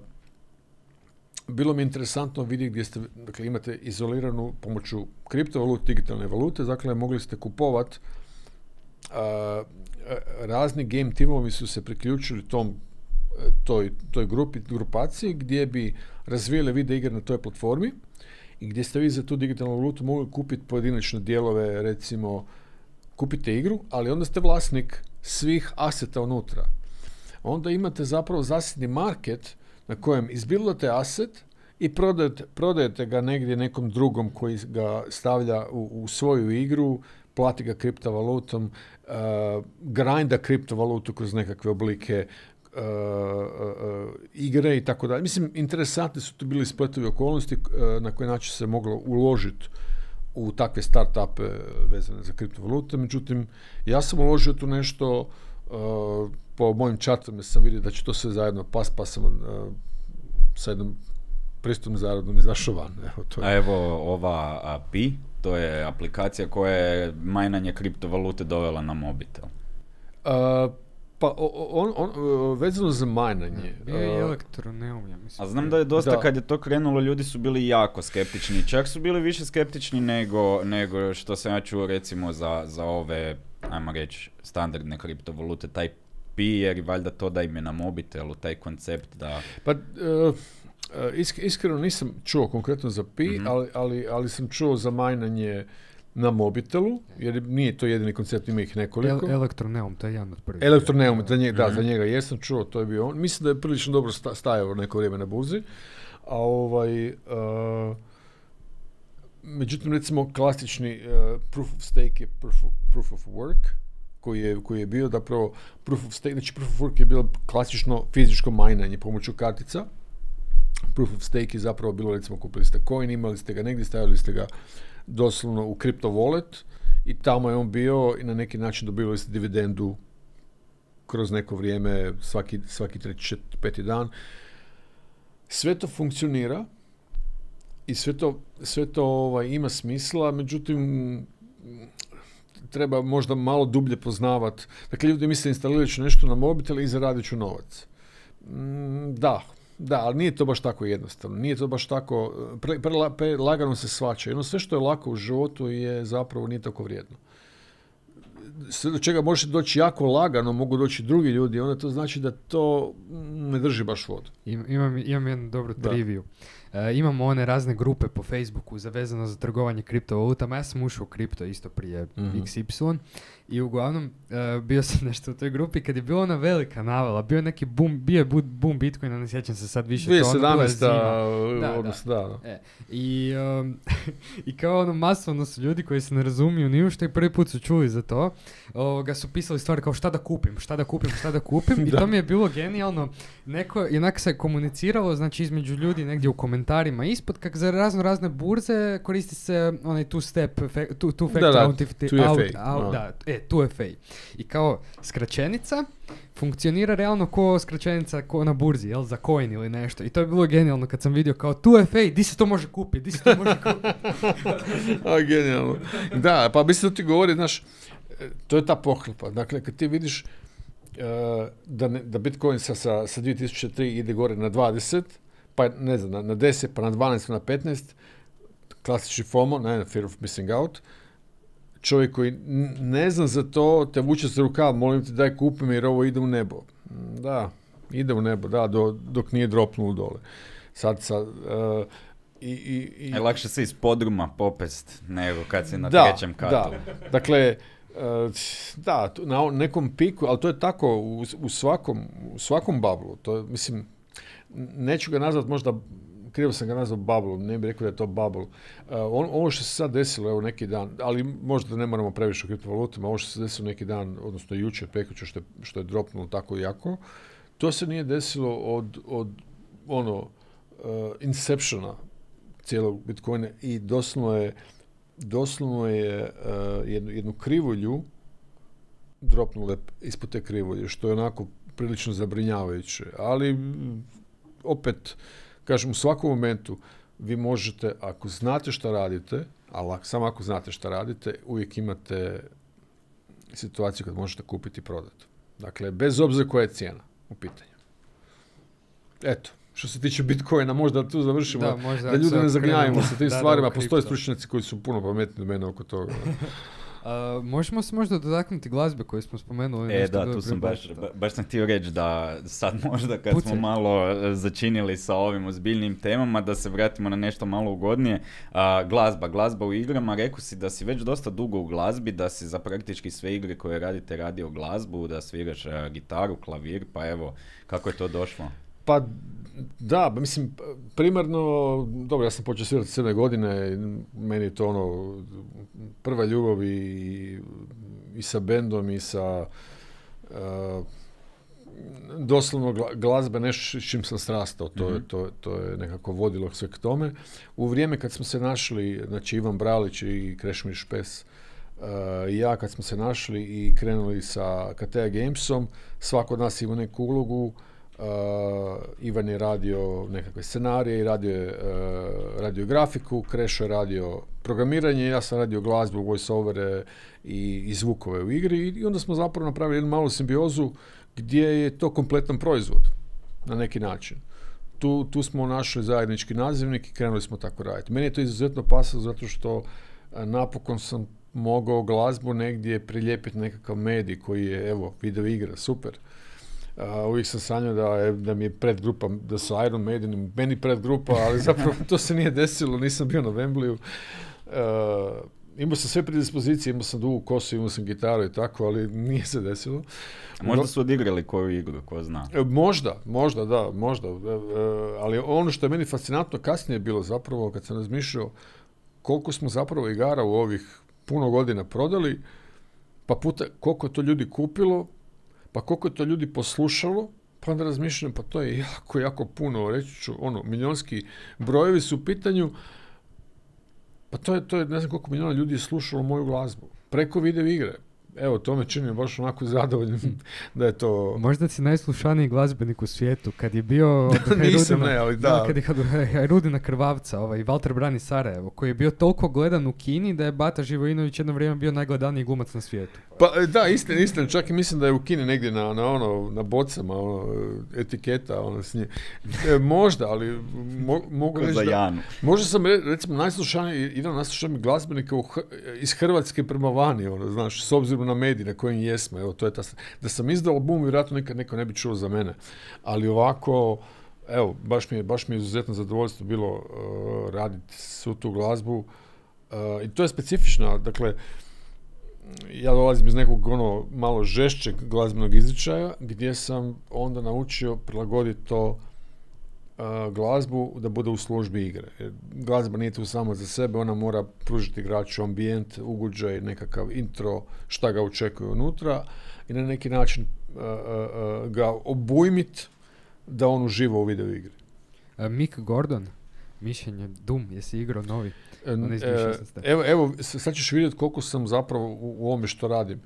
bilo mi je interesantno vidjeti gdje ste, dakle, imate izoliranu pomoću kriptovalute, digitalne valute, dakle, mogli ste kupovati, uh, razni game timovi su se priključili tom toj, toj grupi, grupaciji gdje bi razvijali video igre na toj platformi i gdje ste vi za tu digitalnu valutu mogli kupiti pojedinačne dijelove, recimo kupite igru, ali onda ste vlasnik svih aseta unutra. Onda imate zapravo zasebni market na kojem izbildate aset i prodajete, prodajete ga negdje nekom drugom koji ga stavlja u, u svoju igru, plati ga kriptovalutom, uh, grinda kriptovalutu kroz nekakve oblike Uh, uh, uh, igre i tako dalje. Mislim, interesantni su tu bili spletovi okolnosti uh, na koji način se moglo uložiti u takve start-upe vezane za kriptovalute. Međutim, ja sam uložio tu nešto, uh, po mojim čartovima sam vidio da će to sve zajedno pas, pa sam uh, sa jednom pristupnom zaradom izašao van. Evo, to je. A evo ova A P I, to je aplikacija koja je majnanje kriptovalute dovela na mobitel. Uh, Pa on, on, on, vezano za majnanje. Bio je elektroneum, ja mislim. A znam da je dosta, da. kad je to krenulo, ljudi su bili jako skeptični. Čak su bili više skeptični nego, nego što sam ja čuo, recimo, za, za ove ajmo reći, standardne kriptovalute, taj pi, jer valjda to da im je na mobitelu, taj koncept da... Pa, uh, isk- iskreno nisam čuo konkretno za pi, mm-hmm. ali, ali, ali sam čuo za majnanje na mobitelu, jer nije to jedini koncept, ima ih nekoliko. El- Elektroneum, to je jedan od prvih. Elektroneum, za njega, mm-hmm. da, za njega jesam čuo, to je bio on. Mislim da je prilično dobro sta- stajao neko vrijeme na burzi. A ovaj... Uh, međutim, recimo, klasični uh, proof of stake je proof of, proof of work, koji je, koji je bio zapravo proof of stake, znači proof of work je bilo klasično fizičko majnanje pomoću kartica. Proof of stake je zapravo bilo, recimo, kupili ste coin, imali ste ga negdje, stavili ste ga doslovno u crypto wallet i tamo je on bio i na neki način dobivali ste dividendu kroz neko vrijeme, svaki, svaki treći, peti dan. Sve to funkcionira i sve to, sve to ovaj, ima smisla, međutim, treba možda malo dublje poznavati. Dakle, ljudi misle instalirati ću nešto na mobitel i zaradit ću novac. Mm, da, da, ali nije to baš tako jednostavno. Nije to baš tako, pre, pre, pre lagano se svača. Jedno, sve što je lako u životu je zapravo nije tako vrijedno. Sve do čega može doći jako lagano, mogu doći drugi ljudi, onda to znači da to ne drži baš vodu. Im, imam, imam jednu dobru triviju. E, imamo one razne grupe po Facebooku zavezano za trgovanje kriptovalutama. Ja sam ušao u kripto isto prije mm-hmm. iks ipsilon i uglavnom e, bio sam nešto u toj grupi kad je bila ona velika navala, bio je neki boom, bio je boom Bitcoina, ne sjećam se sad više. dvije tisuće sedamnaeste. Da, odnosno, da. da. E, i, um, I kao ono masovno su ljudi koji se ne razumiju ni u što i prvi put su čuli za to, ovoga su pisali stvari kao šta da kupim, šta da kupim, šta da kupim i to mi je bilo genijalno. Neko, jednak se komuniciralo, znači između ljudi negdje u komentarima ispod, kak za razno razne burze koristi se onaj two step, two, two factor authentication. Da, e, two F A. I kao skraćenica funkcionira realno ko skraćenica ko na burzi, jel, za coin ili nešto. I to je bilo genijalno kad sam vidio kao two F A, di se to može kupiti, di se to može kupiti. A, genijalno. Da, pa mislim da ti govori, znaš, to je ta pohlepa. Dakle, kad ti vidiš uh, da, ne, da Bitcoin sa, sa, sa dvije tisuće tri ide gore na dvadeset, pa ne znam, na, na deset, pa na dvanaest, pa na petnaest, klasični FOMO, ne, fear of missing out, čovjek koji ne zna za to, te vuče za rukav, molim te daj kupi mi jer ovo ide u nebo. Da, ide u nebo, da, do, dok nije dropnulo dole. Sad, sad, uh, i, i, i... Je lakše se iz podruma popest nego kad si na da, trećem katu. Da, dakle, uh, da, na nekom piku, ali to je tako u, u svakom, u svakom bablu. To je, mislim, neću ga nazvat možda, krivo sam ga nazvao bubble, ne bih rekao da je to bubble. Uh, on, ovo što se sad desilo, evo neki dan, ali možda ne moramo previše o kriptovalutama, ovo što se desilo neki dan, odnosno jučer, prekjučer, što je, što je dropnulo tako jako, to se nije desilo od, od ono, uh, inceptiona cijelog Bitcoina i doslovno je, doslovno je uh, jednu, jednu krivulju dropnule ispod te krivulje, što je onako prilično zabrinjavajuće. Ali opet, kažem, u svakom momentu vi možete, ako znate šta radite, ali samo ako znate šta radite, uvijek imate situaciju kad možete kupiti i prodati. Dakle, bez obzira koja je cijena u pitanju. Eto, što se tiče Bitcoina, možda tu završimo, da, možda da ljudi ne zagnjavimo sa tim da, stvarima. Da, postoje stručnjaci koji su puno pametni od mene oko toga. Uh, možemo se možda dotaknuti glazbe koju smo spomenuli. E, da, tu sam baš, ba, baš sam htio reći da sad možda kad Pucaj. smo malo začinili sa ovim ozbiljnim temama, da se vratimo na nešto malo ugodnije. Uh, glazba, glazba u igrama, rekao si da si već dosta dugo u glazbi, da si za praktički sve igre koje radite radio glazbu, da sviraš uh, gitaru, klavir, pa evo, kako je to došlo? Pa da, mislim, primarno, dobro, ja sam počeo svirati sedam godine, meni je to ono, prva ljubav i, i sa bendom i sa uh, doslovno glazbe, nešto s čim sam strastao, to, mm-hmm. je, to, to je nekako vodilo sve k tome. U vrijeme kad smo se našli, znači Ivan Bralić i Krešimir Špes, uh, i ja kad smo se našli i krenuli sa Katea Gamesom, svako od nas ima neku ulogu. Uh, Ivan je radio nekakve scenarije i radio je uh, radio grafiku, Krešo je radio programiranje, ja sam radio glazbu, voice-overe i, i zvukove u igri i, i onda smo zapravo napravili jednu malu simbiozu gdje je to kompletan proizvod na neki način. Tu, tu smo našli zajednički nazivnik i krenuli smo tako raditi. Meni je to izuzetno pasalo zato što uh, napokon sam mogao glazbu negdje prilijepiti nekakav medij koji je, evo, video igra, super. Uh, uvijek sam sanjao da, je, da mi je predgrupa, da su Iron Maiden meni predgrupa, ali zapravo to se nije desilo, nisam bio na Wembleyu. Uh, imao sam sve predispozicije, imao sam dugu kosu, imao sam gitaru i tako, ali nije se desilo. A možda su odigrali koju igru, ko zna? Možda, možda, da, možda. Uh, ali ono što je meni fascinantno kasnije bilo zapravo, kad sam razmišljao koliko smo zapravo igara u ovih puno godina prodali, pa puta koliko je to ljudi kupilo, pa koliko je to ljudi poslušalo, pa onda razmišljam, pa to je jako, jako puno, reći ću, ono, milionski brojevi su u pitanju, pa to je, to je, ne znam koliko milijona ljudi je slušalo moju glazbu, preko video igre. Evo, to me čini baš onako zadovoljnim da je to... Možda si najslušaniji glazbenik u svijetu. Kad je bio... Nisam, ne, ali da. da. Kad je Hajrudina Krvavca, ovaj, Valter brani Sarajevo, koji je bio toliko gledan u Kini da je Bata Živojinović jedno vrijeme bio najgledaniji glumac na svijetu. Pa da, istina, istina. Čak i mislim da je u Kini negdje na, na, ono, na bocama ono, etiketa ono, s nje. E, možda, ali mo, mogu reći da... Janu. Možda sam, recimo, najslušaniji, jedan najslušaniji glazbenika u, iz Hrvatske prema vani, ono, znaš, s obzirom na medij na kojim jesmo, evo, to je ta, da sam izdao album, vjerojatno nikad neko ne bi čuo za mene, ali ovako, evo, baš mi je, baš mi je izuzetno zadovoljstvo bilo uh, raditi svu tu glazbu uh, i to je specifično, dakle, ja dolazim iz nekog ono malo žešćeg glazbenog izričaja, gdje sam onda naučio prilagoditi to uh, glazbu da bude u službi igre. Jer glazba nije tu samo za sebe, ona mora pružiti igraču ambijent, ugođaj, nekakav intro, šta ga očekuje unutra i na neki način uh, uh, ga obujmit da on uživa u video igri. Uh, Mick Gordon, mišljenje, Doom, jesi igrao novi? E, evo, evo, sad ćeš vidjeti koliko sam zapravo u, u ovome što radim.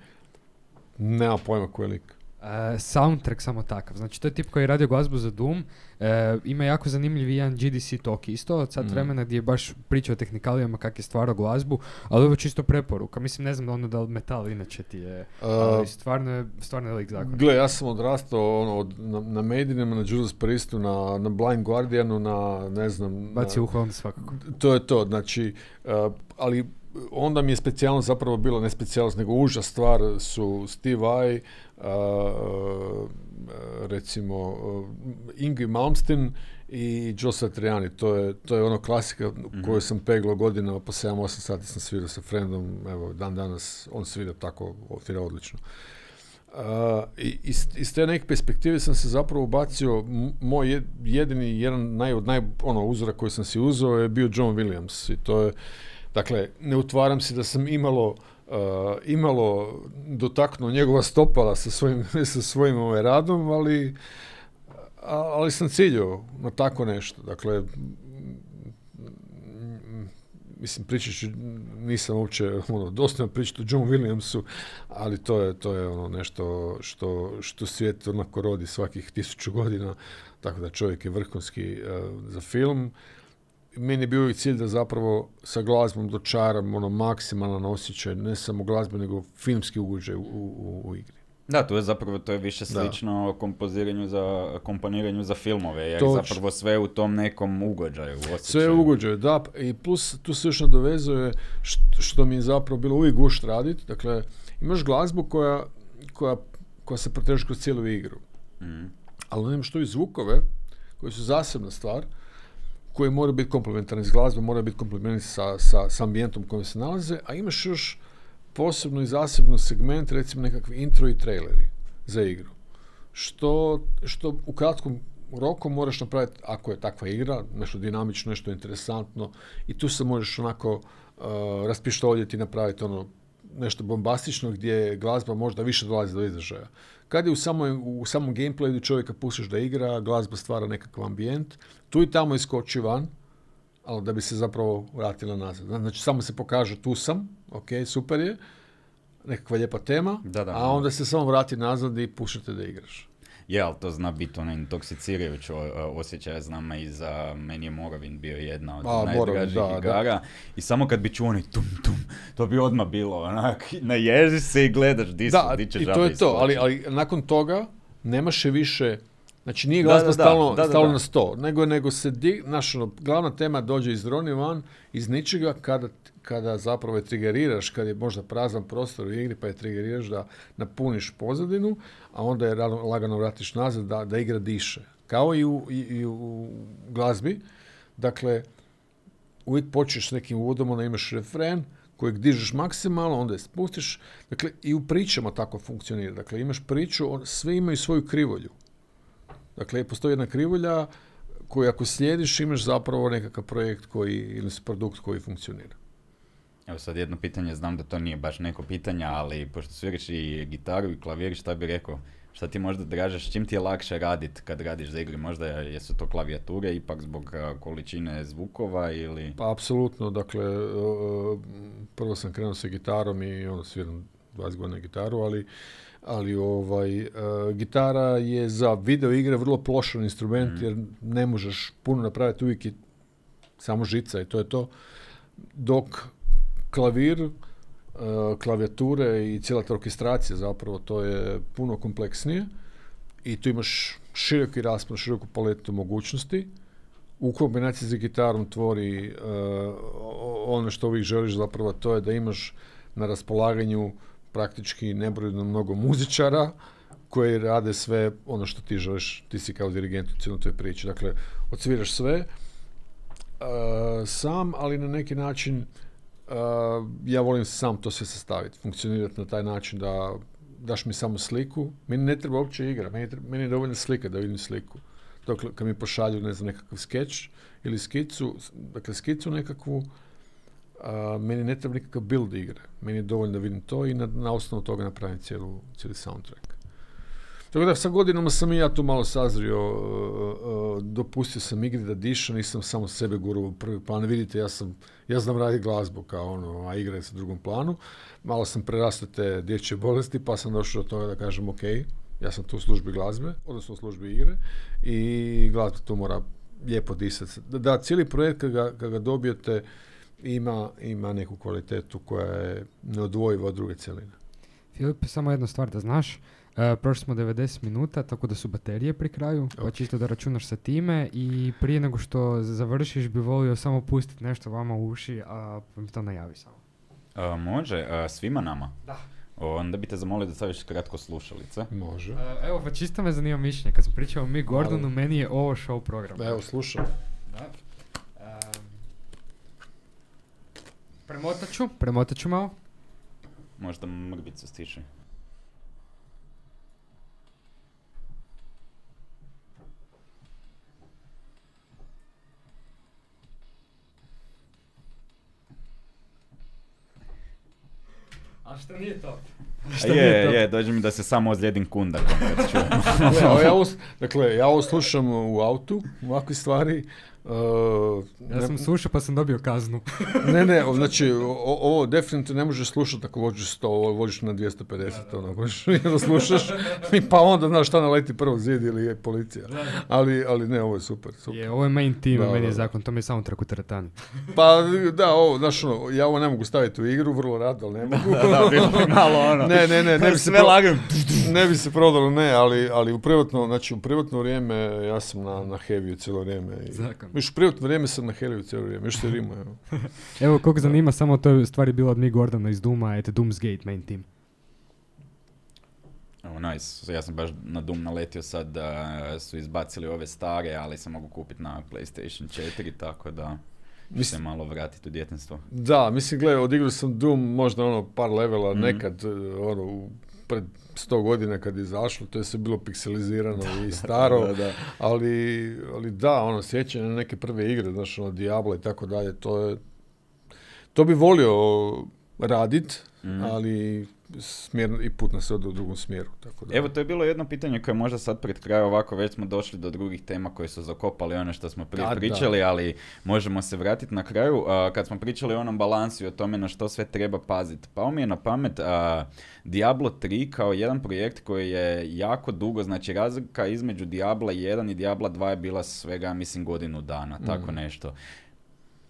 Nema pojma koji je lik. Uh, soundtrack samo takav. Znači, to je tip koji je radio glazbu za Doom. Uh, ima jako zanimljiv jedan G D C talk isto od sat mm. vremena gdje je baš pričao o tehnika kak je stvarao glazbu, ali ovo je čisto preporuka. Mislim, ne znam ono da li metal inače ti je, uh, ali stvarno je, stvarno je lik zakon. Gle, ja sam odrastao ono, od, na, na Maidenima, na Judas Priestu, na, na Blind Guardianu, na ne znam... Baci uho onda svakako. To je to, znači, uh, ali onda mi je specijalno zapravo bilo, ne specijalnost, nego užas stvar su Steve Vai, uh, uh, recimo uh, Yngwie Malmsteen i Joe Satriani. To je, to je ono klasika mm-hmm. koju sam peglao godinama, po sedam osam sati sam svirao sa friendom, evo, dan danas on svira tako, svira odlično. Uh, i iz, iz te neke perspektive sam se zapravo ubacio, moj jedini, jedan naj, naj, ono, uzora koji sam si uzeo je bio John Williams i to je, dakle, ne utvaram se da sam imalo, uh, imalo dotaknuo njegova stopala sa svojim, sa svojim ovaj radom, ali, ali sam ciljao na tako nešto. Dakle, mislim, pričat ću, nisam uopće ono, dostojno pričati o John Williamsu, ali to je, to je ono nešto što, što svijet onako rodi svakih tisuću godina, tako da čovjek je vrhunski uh, za film. Meni je bio i cilj da zapravo sa glazbom dočaram ono maksimalan osjećaj, ne samo glazbe, nego filmski ugođaj u, u, u igri. Da, to je zapravo, to je više slično da. kompoziranju za, komponiranju za filmove, jer Toč. zapravo sve u tom nekom ugođaju, osjećaju. Sve u ugođaju, da, i plus tu se još nadovezuje što, što mi je zapravo bilo uvijek gušt raditi, dakle, imaš glazbu koja, koja, koja se proteže kroz cijelu igru, mm. ali imaš tu i zvukove koji su zasebna stvar, koji moraju biti komplementarni s glazbom, moraju biti komplementarni sa, sa, sa ambijentom u kojem se nalaze, a imaš još posebno i zasebno segment, recimo nekakvi intro i traileri za igru. Što, što u kratkom roku moraš napraviti, ako je takva igra, nešto dinamično, nešto interesantno, i tu se možeš onako uh, raspištoljiti i napraviti ono nešto bombastično gdje glazba možda više dolazi do izražaja. Kad je u, samoj, u samom gameplayu čovjeka pustiš da igra, glazba stvara nekakav ambijent, tu i tamo iskoči van, ali da bi se zapravo vratila nazad. Znači, samo se pokaže tu sam, ok, super je, nekakva lijepa tema, da, da, a onda se samo vrati nazad i pušite da igraš. Je, ali to zna biti ono intoksicirajuće osjećaj, znam, i za meni je Morrowind bio jedna od a, najdražih da, igara. Da. I samo kad bi čuo oni tum tum, to bi odmah bilo onak, naježi se i gledaš di su, di će žabe. Da, i to je to, ali, ali nakon toga nemaš je više, znači nije glazba stalno, da, da, stalno da, da. na sto, nego, nego se, di, naš, ono, glavna tema dođe iz droni van, iz ničega, kada, kada zapravo je trigeriraš, kad je možda prazan prostor u igri, pa je trigeriraš da napuniš pozadinu, a onda je lagano vratiš nazad da, da igra diše. Kao i u, i, i u glazbi. Dakle, uvijek počneš s nekim uvodom, onda imaš refren kojeg dižeš maksimalno, onda je spustiš. Dakle, i u pričama tako funkcionira. Dakle, imaš priču, on, sve imaju svoju krivolju. Dakle, postoji jedna krivolja koju ako slijediš, imaš zapravo nekakav projekt koji, ili produkt koji funkcionira. Evo sad jedno pitanje, znam da to nije baš neko pitanje, ali pošto sviraš i gitaru i klavir, šta bi rekao? Šta ti možda dražeš, čim ti je lakše raditi kad radiš za igre? Možda jesu to klavijature ipak zbog količine zvukova ili... Pa apsolutno, dakle, prvo sam krenuo sa gitarom i onda sviram dvadeset godina gitaru, ali, ali ovaj, gitara je za video igre vrlo plošan instrument, mm. jer ne možeš puno napraviti, uvijek je samo žica i to je to. Dok klavir, klavijature i cijela ta orkestracija zapravo, to je puno kompleksnije i tu imaš široki raspon, široku paletu mogućnosti. U kombinaciji sa gitarom tvori uh, ono što uvijek želiš zapravo, to je da imaš na raspolaganju praktički nebrojeno mnogo muzičara koji rade sve ono što ti želiš, ti si kao dirigent u cijeloj toj priči. Dakle, odsviraš sve uh, sam, ali na neki način Uh, ja volim sam to sve sastaviti, funkcionirati na taj način da daš mi samo sliku. Meni ne treba uopće igra, meni, treba, meni je dovoljno slika da vidim sliku. Dakle, kad mi pošalju, ne znam, nekakav skeč ili skicu, dakle skicu nekakvu, uh, meni ne treba nikakav build igre. Meni je dovoljno da vidim to i na, na osnovu toga napravim cijelu, cijeli soundtrack. Tako da sa godinama sam i ja tu malo sazrio, uh, uh, dopustio sam igri da diše, nisam samo sebe gurao u prvi plan. Vidite, ja sam, ja znam raditi glazbu kao ono, a igra je sa drugom planu. Malo sam prerastao te dječje bolesti, pa sam došao do toga da kažem ok, ja sam tu u službi glazbe, odnosno u službi igre i glazba tu mora lijepo disati. Da, da, cijeli projekt kad ga, kad ga dobijete ima, ima neku kvalitetu koja je neodvojiva od druge cjeline. Filip, samo jedna stvar da znaš. Uh, prošli smo devedeset minuta, tako da su baterije pri kraju, okay. Pa čisto da računaš sa time i prije nego što završiš bi volio samo pustiti nešto vama u uši, a mi to najavi samo. Uh, može, uh, svima nama? Da. Onda bi te zamolio da staviš kratko slušalice. Može. Uh, evo, pa čisto me zanima mišljenje. Kad sam pričao o Mi Gordonu, meni je ovo show program. Evo, slušam. Da. Um, premotat ću, premotat ću malo. Možda mrvicu stiši. A što nije to? Šta je, je, dođe mi da se samo ozlijedim kundakom kad čujem. ja, ja ovo, dakle, ja ovo slušam u autu, ovakve stvari. Uh, ja sam slušao pa sam dobio kaznu. ne, ne, znači, o, ovo definitivno ne možeš slušati ako vođiš sto, ovo vođiš na dvjesto pedeset, da, da. Ono, možeš jedno slušaš, pa onda znaš šta naleti prvo zid ili je policija. Da, da. Ali, ali ne, ovo je super, super. Je, ovo je main team, da, meni je da, zakon, to mi je soundtrack u teretani. Pa da, ovo, znaš ono, ja ovo ne mogu staviti u igru, vrlo rado, ali ne mogu. da, da, bilo malo ono. Ne, ne, ne, ne bi se sve lagam. Ne bi se prodalo, ne, ali, ali u privatno, znači u privatno vrijeme ja sam na, na heavy cijelo vrijeme. I, zakon. Još u privatno vrijeme sam na heavy cijelo vrijeme, još se rima, evo. Evo, koliko zanima, samo to je stvari bilo od Mi Gordona iz Dooma, et Doomsgate main team. Oh, nice. Ja sam baš na Doom naletio sad da su izbacili ove stare, ali se mogu kupiti na PlayStation četiri, tako da ću se malo vratiti u djetinjstvo. Da, mislim, gledaj, odigrao sam Doom možda ono par levela, mm-hmm. nekad ono, u, pred sto godina kad je izašlo, to je sve bilo pikselizirano da, i staro, da, da. Ali, ali da, ono, sjećanje na neke prve igre, znaš, ono, Diablo i tako dalje, to je, to bi volio radit, mm. ali smjer i put nas ode u drugom smjeru. Tako da. Evo, to je bilo jedno pitanje koje možda sad pred kraju ovako, već smo došli do drugih tema koje su zakopali ono što smo prije da, pričali, da. Ali možemo se vratiti na kraju. Uh, kad smo pričali o onom balansu i o tome na što sve treba paziti, pao mi je na pamet uh, Diablo tri kao jedan projekt koji je jako dugo, znači razlika između Diabla jedan i Diabla dva je bila svega, mislim, godinu dana, mm. tako nešto.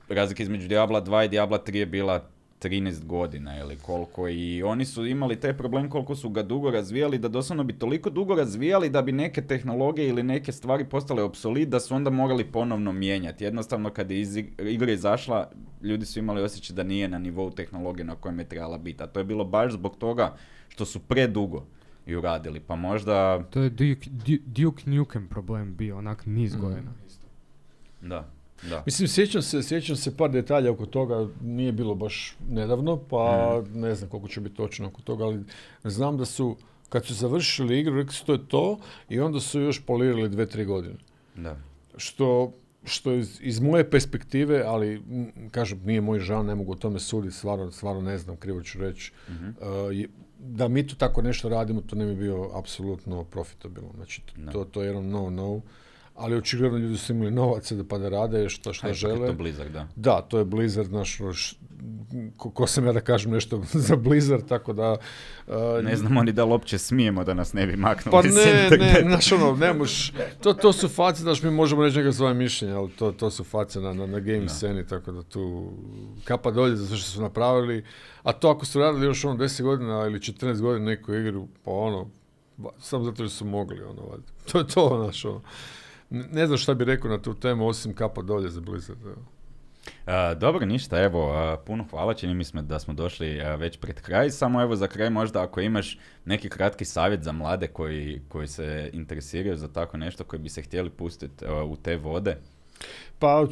Razlika između Diabla dva i Diabla tri je bila trinaest godina ili koliko i oni su imali taj problem koliko su ga dugo razvijali da doslovno bi toliko dugo razvijali da bi neke tehnologije ili neke stvari postale obsolit da su onda morali ponovno mijenjati. Jednostavno kad je iz igra izašla ljudi su imali osjećaj da nije na nivou tehnologije na kojem je trebala biti. A to je bilo baš zbog toga što su predugo ju radili, pa možda... To je Duke, Duke Nukem problem bio, onak niz mm. godina. Da. Da. Mislim, sjećam se, sjećam se par detalja oko toga, nije bilo baš nedavno, pa mm. ne znam koliko će biti točno oko toga, ali znam da su, kad su završili igru, rekli su to je to i onda su još polirali dve, tri godine. Da. Što, što iz, iz moje perspektive, ali m, kažem, nije moj žal, ne mogu o tome suditi, stvarno, stvarno ne znam, krivo ću reći, mm-hmm. uh, je, da mi tu tako nešto radimo, to ne bi bio apsolutno profitabilno. Znači, to, to, to je jedan no-no. Ali očigledno ljudi su imali novaca da pa da rade što šta žele. Je to Blizzard, da. Da, to je Blizzard, naš, ko, ko sam ja da kažem nešto za Blizzard, tako da... Uh, ne znamo ni da li uopće smijemo da nas ne bi maknuli. Pa ne, ne, znaš ono, ne moš, to, to su face, znaš, mi možemo reći neka svoje mišljenje, ali to, to su face na, na, na game no. sceni, tako da tu kapa dolje za sve što su napravili. A to ako su radili još ono deset godina ili četrnaest godina neku igru, pa ono, samo zato što su mogli, ono, to je to, znaš, ono. Ne znam šta bi rekao na tu temu, osim kapa dolje za Blizzard. Uh, dobro, ništa, evo, uh, puno hvala, čini mi smo da smo došli uh, već pred kraj, samo evo za kraj možda ako imaš neki kratki savjet za mlade koji, koji se interesiraju za tako nešto, koji bi se htjeli pustiti uh, u te vode. Pa,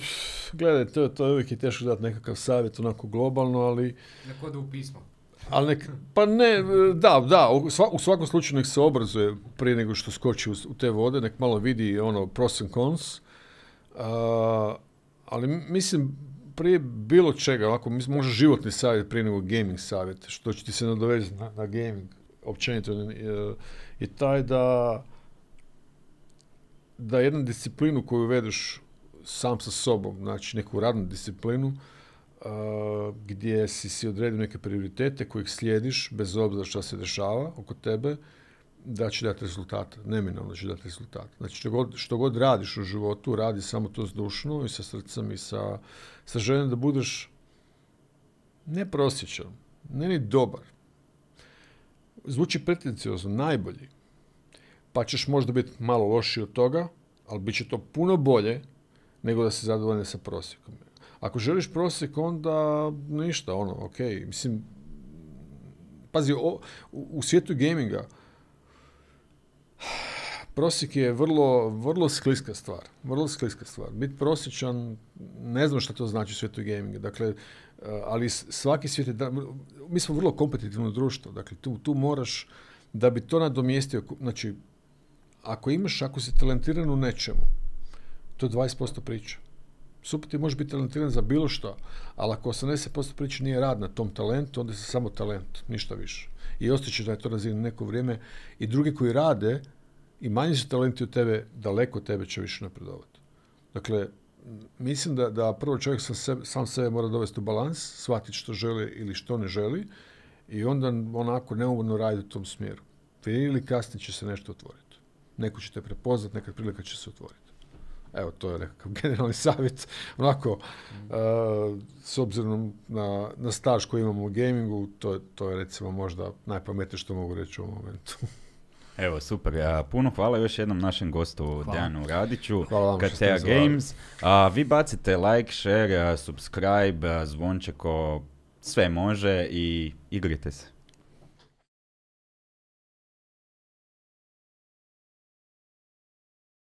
gledaj, to, to je uvijek je teško dati nekakav savjet onako globalno, ali... Neko da u pismo. Ali nek, pa ne, da, da, u, sva, u svakom slučaju nek se obrazuje prije nego što skoči u, u te vode, nek malo vidi ono pros and cons, uh, ali mislim prije bilo čega, ovako, mislim, može životni savjet prije nego gaming savjet, što će ti se nadovezati na, na gaming, općenito je, je taj da da jednu disciplinu koju vedeš sam sa sobom, znači neku radnu disciplinu, Uh, gdje si si odredio neke prioritete kojih slijediš, bez obzira što se dešava oko tebe, da će dati rezultate. Neminovno će dati rezultate. Znači, što god, što god radiš u životu, radi samo to zdušno i sa srcem i sa, sa željom da budeš ne prosječan, ne ni dobar. Zvuči pretenciozno, najbolji. Pa ćeš možda biti malo lošiji od toga, ali bit će to puno bolje nego da se zadovoljne sa prosjekom. Ako želiš prosjek, onda ništa, ono, ok, mislim, pazi, o, u, u svijetu gaminga prosjek je vrlo, vrlo skliska stvar, vrlo skliska stvar. Biti prosječan, ne znam šta to znači u svijetu gaminga, dakle, ali svaki svijet je, da, mi smo vrlo kompetitivno društvo, dakle, tu, tu moraš, da bi to nadomjestio, znači, ako imaš, ako si talentiran u nečemu, to je dvadeset posto priča. Super, ti možeš biti talentiran za bilo što, ali ako osamdeset posto priče nije rad na tom talentu, onda si samo talent, ništa više. I ostaćeš da je to razine neko vrijeme i drugi koji rade i manji su talenti od tebe, daleko od tebe će više napredovati. Dakle, mislim da, da prvo čovjek sam sebe, sam sebe mora dovesti u balans, shvatiti što želi ili što ne želi i onda onako neumorno raditi u tom smjeru. Prije ili kasnije će se nešto otvoriti. Neko će te prepoznati, nekad prilika će se otvoriti. Evo, to je nekakav generalni savjet. Onako, uh, s obzirom na, na staž koji imamo u gamingu, to, to je recimo možda najpametnije što mogu reći u ovom momentu. Evo, super. Ja, puno hvala još jednom našem gostu Dejanu Radiću, Katea Games. A, vi bacite like, share, subscribe, zvončeko, sve može i igrite se.